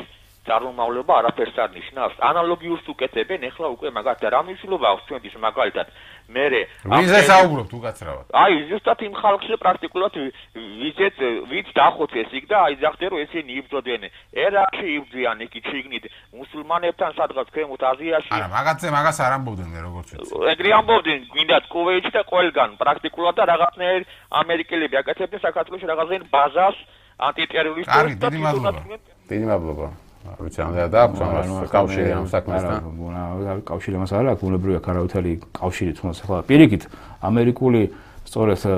წარმომავლობა არაფერს არ ნიშნავს. ანალოგიურს უკეთებენ, ეხლა უკვე მაგათ რა მნიშვნელობა აქვს ჩვენთვის მაგალითად. მერე ვიზე საუბრობთ უკაცრავად. აი ზუსტად იმ ხალხზე პრაქტიკულად ვიზეთ ვიც დახოცეს იქ და აი ზახდე რომ ესენი იბრძოდნენ. ერაყში იბრძვიან იქ ჩიგნით მუსულმანებთან სადღაც ქვემოთ აზიაში. არა, მაგათზე მაგას არ ამბობდნენ მე როგორც ვიცი. ეგრე ამბობდნენ გვინდათ კუვეითში და ყველგან პრაქტიკულად და რაღაცნაირ ამერიკელები აკეთებდნენ საქართველოში რაღაცნაირ ბაზას ანტიტერორისტულ. კარგი, დიდი მადლობა. დიდი მადლობა. ვიცი ამ და აქვს ამას კავშირი ამ საქმესთან. არა, კავშირი ამას არა აქვს, უნებრივია ქარავითელი კავშირი თუნდაც ახლა პირიქით ამერიკული სწორედ ასე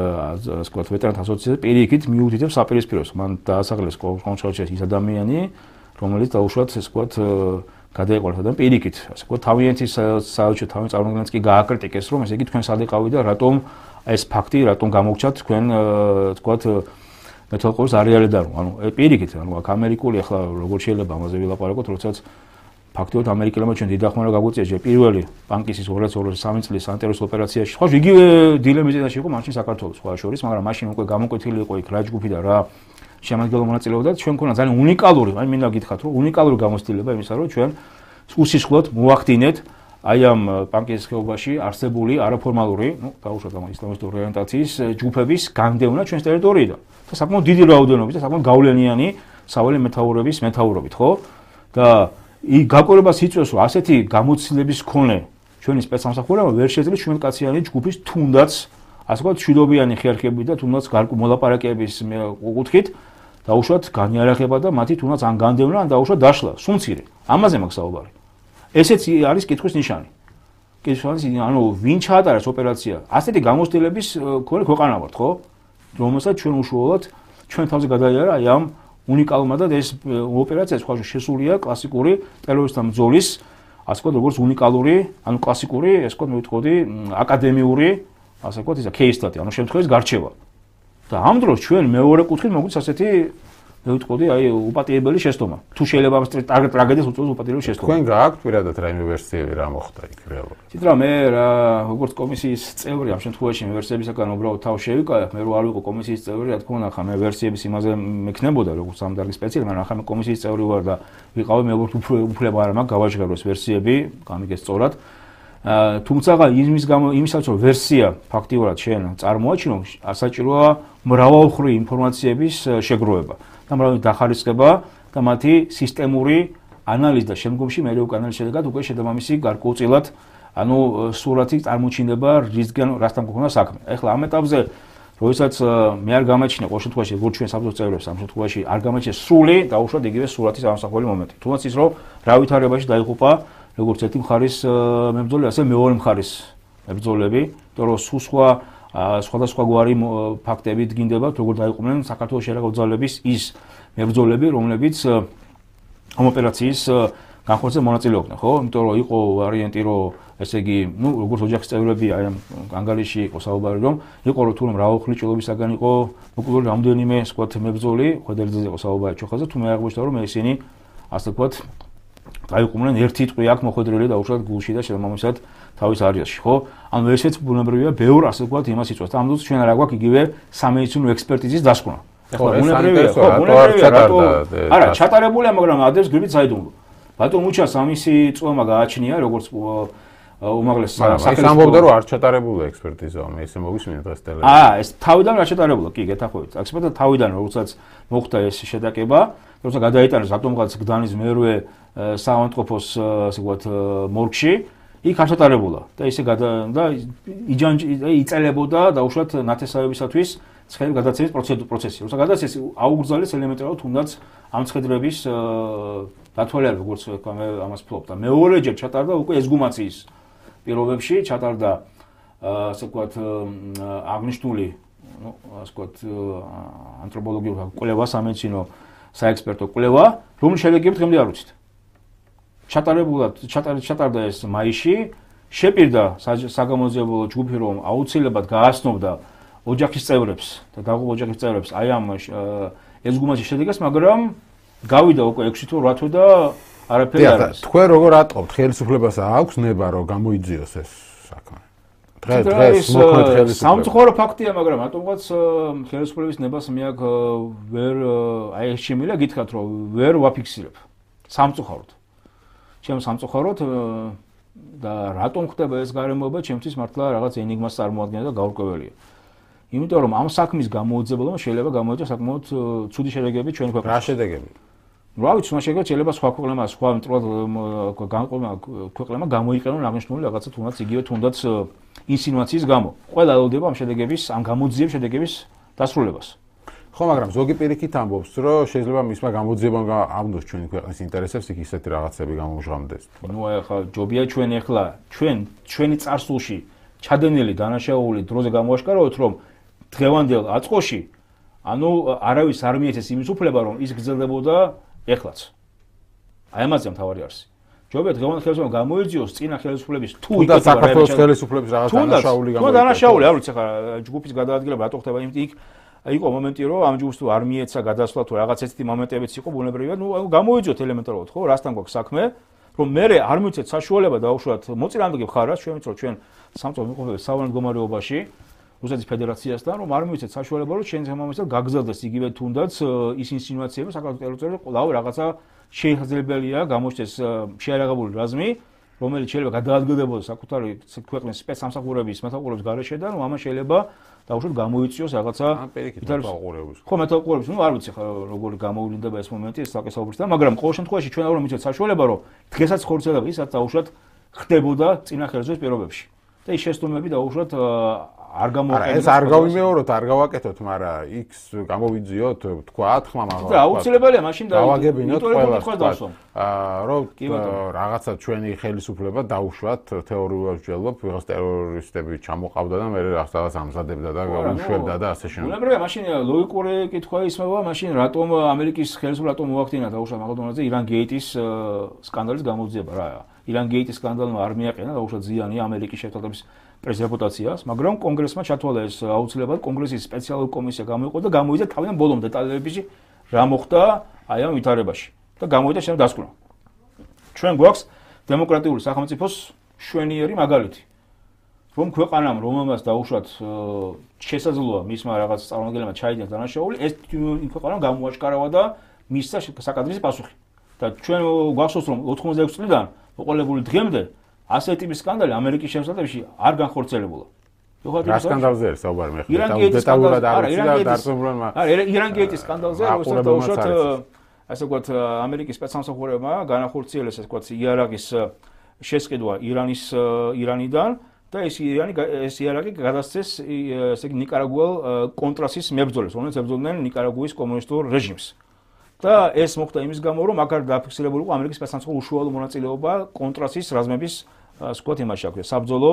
ვთქვათ ვეტერანთა ასოციაცია პირიქით მიუთითებს საპირისპიროს. მან დაასახელეს კონსულტაციაში ის ადამიანი, რომელიც დაუშვათ ასე ვთქვათ გადაეყოლათ და პირიქით ასე ვთქვათ თავიანთი საელჩო თავის წარმომადგენლებს კი გააკრიტიკეს, რომ ესე იგი თქვენ სად იყავით და რატომ ეს ფაქტი რატომ გამოგჩათ თქვენ ვთქვათ მეთვალყურს არეალიდან, ანუ პირიქით, ანუ აქ ამერიკული ახლა როგორ შეიძლება ამაზე ვილაპარაკოთ, როდესაც ფაქტობრივად ამერიკელებმა ჩვენ დიდ ახმარება გაგვიწია პირველი პანკისის ორი ათას ოცდასამი წლის ანტერორისტულ ოპერაციაში. ხო, იგივე დილემის წინაშე იყო მაშინ საქართველოს სხვა შორის, მაგრამ მაშინ უკვე გამოკვეთილი იყო იქ რა ჯგუფი და რა შემადგენლობა მონაწილეობდა. ჩვენ ქონა ძალიან უნიკალური, აი მინდა გითხრათ, რომ უნიკალური გამოცდილება იმისა, რომ ჩვენ უსისხლოდ მოახდინეთ აი ამ პანკისის ხეობაში არსებული არაფორმალური, ნუ დაუშვათ ამ ისლამისტური ორიენტაციის ჯგუფების განდევნა ჩვენს ტერიტორიიდან. და საკმაოდ დიდი რაოდენობით და საკმაოდ გავლენიანი სავალე მეთაურების მეთაურობით, ხო? და გაკვირვებას იწვევს, რომ ასეთი გამოცდილების მქონე ჩვენი სპეცსამსახურება ვერ შეძლებს ჩვენკაციანი ჯგუფის თუნდაც ასე ვთქვათ მშვიდობიანი ხერხები და თუნდაც მოლაპარაკების კუთხით დაუშვათ განიარაღება და მათი თუნდაც ან განდევნა ან დაუშვათ დაშლა, სუმცირე. ამაზე მაქვს საუბარი. ესეც არის კითხვის ნიშანი. კითხვის ნიშანი, ანუ ვინ ჩაატარეს ოპერაცია? ასეთი გამოცდილების მქონე ქვეყანა ვართ, ხო? რომელსაც ჩვენ უშუალოდ ჩვენ თავზე გადაიარა აი ამ უნიკალურმა და ეს ოპერაცია სხვა შესულია კლასიკური ტერორისტთა ბრძოლის ასე ვთქვათ როგორც უნიკალური, ანუ კლასიკური, ასე ვთქვათ, მე ვიტყოდი, აკადემიური, ასე ვთქვათ, ისა кейსტატი, ანუ შემთხვევის გარჩევა. და ამ დროს ჩვენ მეორე კუთხით მოგვიწევს ასეთი მე ვიტყოდი, აი უპატიებელი შეცდომა. თუ შეიძლება ამ ტრაგედიას უწევს უპატიებელი შეცდომა. თქვენ გააქვთ პირადად რაიმე ვერსიები რა მოხდა იქ რეალურად? თითქოს მე რა როგორც კომისიის წევრი ამ შემთხვევაში მე ვერსიებისგან უბრალოდ თავ შევიკავებ, მე რო არ ვიყო კომისიის წევრი, რა თქმა უნდა, ხა მე ვერსიების იმაზე მექნებოდა როგორც ამ დარგის სპეციალისტი, მაგრამ ხა მე კომისიის წევრი ვარ და ვიყავი მე უფლება არ მაქვს გავაჟღეროს ვერსიები, გამიგეს სწორად. თუმცა იმის გამო იმისაც რომ ვერსია ფაქტიურად შენ წარმოაჩინო, საჭიროა მრავალმხრივი ინფორმაციების შეგროვება. და მრავალი დახარისხება და მათი სისტემური ანალიზი და შემდგომში მე უკვე ანალიზის შედეგად უკვე შედამამისი გარკვეულწილად ანუ სურათი წარმოჩინება რისგან რასთან გქონდა საქმე. ეხლა ამ ეტაპზე როდესაც მე არ გამაჩნია ყოველ შემთხვევაში როგორც ჩვენ საბჭოს წევრებს ამ შემთხვევაში არ გამაჩნია სრული დაუშვათ იგივე სურათის ამსახველი მომენტი. თუნდაც ის რომ რა ვითარებაში დაიღუპა როგორც ერთი მხარის მებრძოლი, ასე მეორე მხარის მებრძოლები, იმიტომ რომ სულ სხვა სხვადასხვა გვარი ფაქტები დგინდება, როგორ დაიყვნენ საქართველოს შერაგო ძალების ის მებრძოლები, რომლებიც ამ ოპერაციის განხორციელებას მონაწილეობდნენ, ხო? იმიტომ რომ იყო ვარიანტი, რომ ესე იგი, ну, როგორც ოჯახის წევრები აი ამ ანგარიში იყო საუბარი, რომ იყო რომ თუნდაც მრავალხლიჭილობისაგან იყო მოკლული რამდენიმე სხვა მებრძოლი, ხვედერძეზე იყო საუბარი ჩოხაზე, თუ მე აღმოჩნდა რომ ისინი ასე ვთქვათ დაიყვნენ ერთი ტყვი აქ მოხვედრილი დაუშვათ გულში და შემომისად თავის არიასში, ხო? ანუ ესეც ბუნებრივია, ბევრ ასე ვთქვათ იმას იწვევს. ამ დროს ჩვენ არა გვაქვს იგივე სამედიცინო ექსპერტიზის დასკვნა. ხო, ბუნებრივია, ხო, ბუნებრივია, რატო არა, ჩატარებულია, მაგრამ ადრეს გვერდით საიდუმლო. ბატონ მუჩას ამისი წვემა გააჩნია, როგორც უმაღლეს სახელმწიფო. ის ამბობდა, რომ არ ჩატარებულა ექსპერტიზა, მე ესე მოგისმინე დღეს ტელევიზორში. აა, ეს თავიდან არ ჩატარებულა, კი, გეთახმებით. ექსპერტიზა თავიდან, როდესაც მოხდა ეს შედაკება, როცა გადაიტანეს ატომღაც გდანის მერვე საავადმყოფოს, ასე ვთქვათ, მორგში, იქ არ ჩატარებულა და ისე გადა და იჯანჯი იწელებოდა დაუშვათ ნათესავებისათვის ცხენის გადაცემის პროცესი. როცა გადაცეს აუგრძალეს ელემენტარულად თუნდაც ამ ცხედრების დათვალიერება, როგორც მე ამას ვფლობ და მეორეჯერ ჩატარდა უკვე ესგუმაციის პირობებში, ჩატარდა ასე ვთქვათ აღნიშნული, ну, ასე ვთქვათ ანთროპოლოგიური კვლევა, სამედიცინო საექსპერტო კვლევა, რომლის შედეგები დღემდე არ ვიცით. ჩატარებულად ჩატარდა ეს მაისში, შეპირდა საგამოძიებელო ჯგუფი, რომ აუცილებლად გააცნობდა ოჯახის წევრებს და დაღუპულ ოჯახის წევრებს აი ამ ესგუმაციის შედეგს, მაგრამ გავიდა უკვე ექვსი თუ ორი თვე და არაფერი არ არის. თქვენ როგორ ატყობთ, ხელისუფლებას აქვს ნება რომ გამოიძიოს ეს საქმე? დღეს დღეს მოქმედ ხელისუფლებას სამწუხარო ფაქტია, მაგრამ ატომღაც ხელისუფლების ნებას მე აქ ვერ აი ეს შემიძლია გითხრათ, რომ ვერ ვაფიქსირებ. სამწუხაროდ. ჩემს სამწუხაროდ და რატომ ხდება ეს გარემოება, ჩემთვის მართლა რაღაც ენიგმას წარმოადგენს და გაურკვეველია. იმიტომ რომ ამ საქმის გამოუძებელობა შეიძლება გამოიწვიოს საკმაოდ ცუდი შედეგები ჩვენ ქვეყანაში. რა შედეგები? რა ვიცი, მას შეიძლება სხვა ქვეყნებმა, სხვა მტრულად განყოფილება ქვეყნებმა გამოიყენონ აღნიშნული რაღაცა თუნდაც იგივე თუნდაც ინსინუაციის გამო. ყველა ელოდება ამ შედეგების, ამ გამოძიების შედეგების დასრულებას. ხო, მაგრამ ზოგი პირიქით ამბობს, რომ შეიძლება მისმა გამოძიებამ ავნოს ჩვენი ქვეყნის ინტერესებს, იქ ისეთი რაღაცები გამომჟღავდეს. ნუ ახლა ჯობია ჩვენ ახლა ჩვენ ჩვენი წარსულში ჩადენილი დანაშაული დროზე გამოაშკარავოთ, რომ დღევანდელ აწყოში ანუ არავის არ მიეცეს იმის უფლება, რომ ის გრძელდებოდა ეხლაც. აი ამაზე მთავარი არსი. ჯობია დღევანდელ ხელისუფლებამ გამოიძიოს წინა ხელისუფლების თუ იქ და საქართველოს ხელისუფლების რაღაც დანაშაული გამოიძიოს. თუ დანაშაული არ ვიცი ახლა ჯგუფის გადაადგილება რატო ხდება, იმიტომ იქ იყო მომენტი, რომ ამ ჯგუფს თუ არ მიეცა გადასვლა თუ რაღაც ესეთი მომენტებიც იყო ბუნებრივია, ნუ გამოიძიოთ ელემენტარულად, ხო, რასთან გვაქვს საქმე, რომ მე არ მივცეთ საშუალება დაუშვათ მოწინააღმდეგე მხარას, ჩვენ ვიცით, რომ ჩვენ სამწუხაროდ ვიყოფებით სავალალო მდგომარეობაში რუსეთის ფედერაციასთან, რომ არ მივცეთ საშუალება, რომ ჩვენ შემომისად გაგზავდეს იგივე თუნდაც ის ინსინუაციები საქართველოს ტერიტორიაზე, ყოლავ რაღაცა შეიხაზებელია გამოჩნდეს შეარაღებული რაზმი, რომელიც შეიძლება გადაადგილდებოდეს საკუთარი ქვეყნის სპეცსამსახურების მეთაურობის გარეშე და რომ ამან შეიძლება დაუშვათ გამოიწვიოს რაღაცა მეთაურობის. ხო, მეთაურობის, ნუ არ ვიცი როგორ გამოვლინდება ეს მომენტი, ეს საკესაუბრისთან, მაგრამ ყოველ შემთხვევაში ჩვენ არ მივცეთ საშუალება, რომ დღესაც ხორცელება ისაც დაუშვათ ხდებოდა წინა ხელისუფლების პირობებში. და ის შეცდომები დაუშვათ არ გამოიყენოს. ეს არ გავიმეოროთ, არ გავაკეთოთ, მაგრამ იქს გამოვიძიოთ, თქვათ, ხმა მაგალითად. და აუცილებელია მაშინ დავაგებინოთ ყველას. აა რომ რაღაცა ჩვენი ხელისუფლება დაუშვათ თეორიულად ვჯელობ, ვიღაც ტერორისტები ჩამოყავდა და მე რაღაც ამზადებდა და უშვებდა და ასე შემდეგ. ბუნებრივია, მაშინ ლოგიკური კითხვა ისმევა, მაშინ რატომ ამერიკის ხელისუფლება რატომ მოახდინა დაუშვათ მაგალითად ირან გეიტის სკანდალის გამოძიება რა. ირან გეიტის სკანდალმა არ მიაყენა დაუშვათ ზიანი ამერიკის შეერთებების პრეს რეპუტაციას, მაგრამ კონგრესმა ჩათვალა ეს აუცილებლად კონგრესის სპეციალური კომისია გამოიყო და გამოიძა თავიდან ბოლომდე დეტალებში რა მოხდა აი ამ ვითარებაში და გამოიძა შემდეგ დასკვნა. ჩვენ გვაქვს დემოკრატიული სახელმწიფოს შვენიერი მაგალითი. რომ ქვეყანამ რომელმაც დაუშვათ შესაძლოა მისმა რაღაც წარმომადგენლებმა ჩაიდინოს დანაშაული, ეს ქვეყანამ გამოაშკარავა და მისცა საკადრის პასუხი. და ჩვენ გვახსოვს რომ ოთხმოცდაექვსი წლიდან მოყოლებული დღემდე ასეთი ტიპის სკანდალი ამერიკის შემოსავლებში არ განხორციელებულა. რა სკანდალზე არის საუბარი მე ხარ? დეტალურად არ ვიცი და დარწმუნებულმა. არა, ირან გეიტის სკანდალზე, როცა დაუშვათ ასე ვთქვათ ამერიკის სპეცსამსახურებმა განახორციელეს ასე ვთქვათ იარაღის შესყიდვა ირანის ირანიდან და ეს ირანი ეს იარაღი გადასცეს ესე იგი ნიკარაგუელ კონტრასის მებრძოლებს, რომელიც ებრძოდნენ ნიკარაგუის კომუნისტურ რეჟიმს. და ეს მოხდა იმის გამო, რომ აქ დაფიქსირებული იყო ამერიკის სპეცსამსახურის უშუალო მონაწილეობა კონტრასის რაზმების ასე ვთქვათ იმაში აქვს, საბრძოლო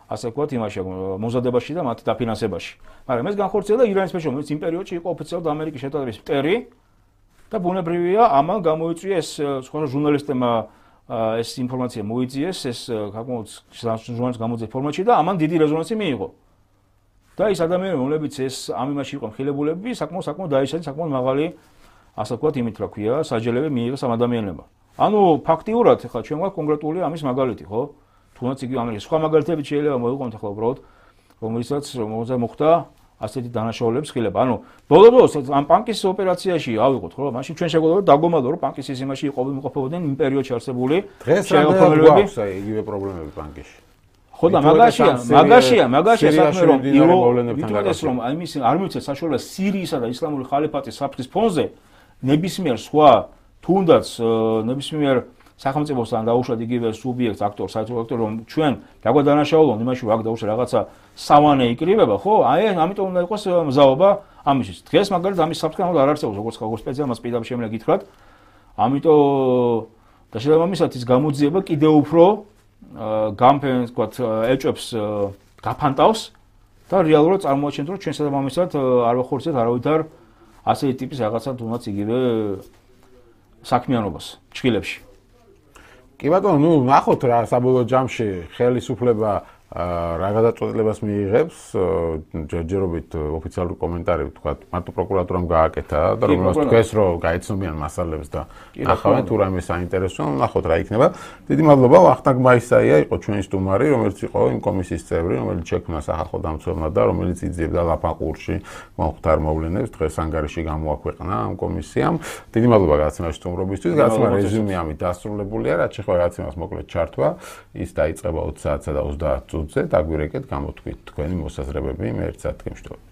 ასე ვთქვათ იმაში მომზადებაში და მათი დაფინანსებაში. მაგრამ ეს განხორციელდა ირანის მეშვეობით, რომელიც იმ პერიოდში იყო ოფიციალურად ამერიკის შეტატების მტერი და ბუნებრივია ამან გამოიწვია ეს სხვა ჟურნალისტებმა ეს ინფორმაცია მოიძიეს, ეს საკმაოდ ჟურნალის გამოძიების ფორმატში და ამან დიდი რეზონანსი მიიღო. და ის ადამიანები, რომლებიც ეს ამ იმაში იყო მხილებულები, საკმაოდ საკმაოდ დაიშალეს, საკმაოდ მაღალი ასე ვთქვათ იმით რა ქვია, საჯელები მიიღეს ამ ადამიანებმა. ანუ ფაქტიურად ხა ჩვენ გვაქვს კონკრეტული ამის მაგალითი, ხო? თუნდაც იგი ამერიკის სხვა მაგალითები შეიძლება მოიყვანოთ ახლა უბრალოდ, რომელიცაც მოხდა ასეთი დანაშაულების ხილება. ანუ ბოლო-ბოლოს ამ პანკის ოპერაციაში ავიღოთ, ხო? მაშინ ჩვენ შეგვიძლია დაგომადო, რომ პანკის სისტემაში იყოფებოდნენ იმ პერიოდში არსებული შეერთებულები. დღეს იგივე პრობლემები პანკში. ხო და მაგაშია, მაგაშია, მაგაშია საქმე რომ იროს რომ იმის არ მივცეთ საშუალება სირიისა და ისლამური ხალიფატის საფრთხის ფონზე ნებისმიერ სხვა თუნდაც ნებისმიერ სახელმწიფოსთან დაუშვათ იგივე სუბიექტს, აქტორს, საერთო აქტორს, რომ ჩვენ დაგვადანაშაულონ იმაში, რომ აქ დაუშვა რაღაცა სავანე იკრიბება, ხო? აი, ამიტომ უნდა იყოს მზაობა ამისთვის. დღეს მაგალითად ამის საფრთხე არ არსებობს, როგორც ხალხურ სპეციალმას პირდაპირ შემიძლია გითხრათ. ამიტომ და შესაბამისად ის გამოძიება კიდევ უფრო გამფენს, ვთქვათ, ეჭვებს გაფანტავს და რეალურად წარმოაჩენთ, რომ ჩვენ შესაბამისად არ ვახორციელებთ არავითარ ასეთი ტიპის რაღაცა თუნდაც იგივე საქმიანობას ჩხილებში. კი ბატონო, ნუ ნახოთ რა საბოლოო ჯამში ხელისუფლება რა გადაწყვეტილებას მიიღებს, ჯერჯერობით ოფიციალური კომენტარი ვთქვათ, მარტო პროკურატურამ გააკეთა და რომელსაც თქვეს, რომ გაიცნობიან მასალებს და ნახავენ თუ რამე საინტერესოა, ნახოთ რა იქნება. დიდი მადლობა, ვახტანგ მაისაია იყო ჩვენი სტუმარი, რომელიც იყო იმ კომისიის წევრი, რომელიც შექმნა სახალხო დამცველმა და რომელიც იძიებდა ლაფაყურში მომხდარ მოვლენებს, დღეს ანგარიში გამოაქვეყნა ამ კომისიამ. დიდი მადლობა გადაცემაში სტუმრობისთვის, გადაცემა რეზიუმე ამით დასრულებულია, რაც შეხვდა გადაცემას მოკლედ ჩართვა, ის დაიწყება ოცი საათსა და ოცდაათ წუთზე, დაგვირეკეთ, გამოთქვით თქვენი მოსაზრებები, მე ერთ საათი გემშვიდობებით.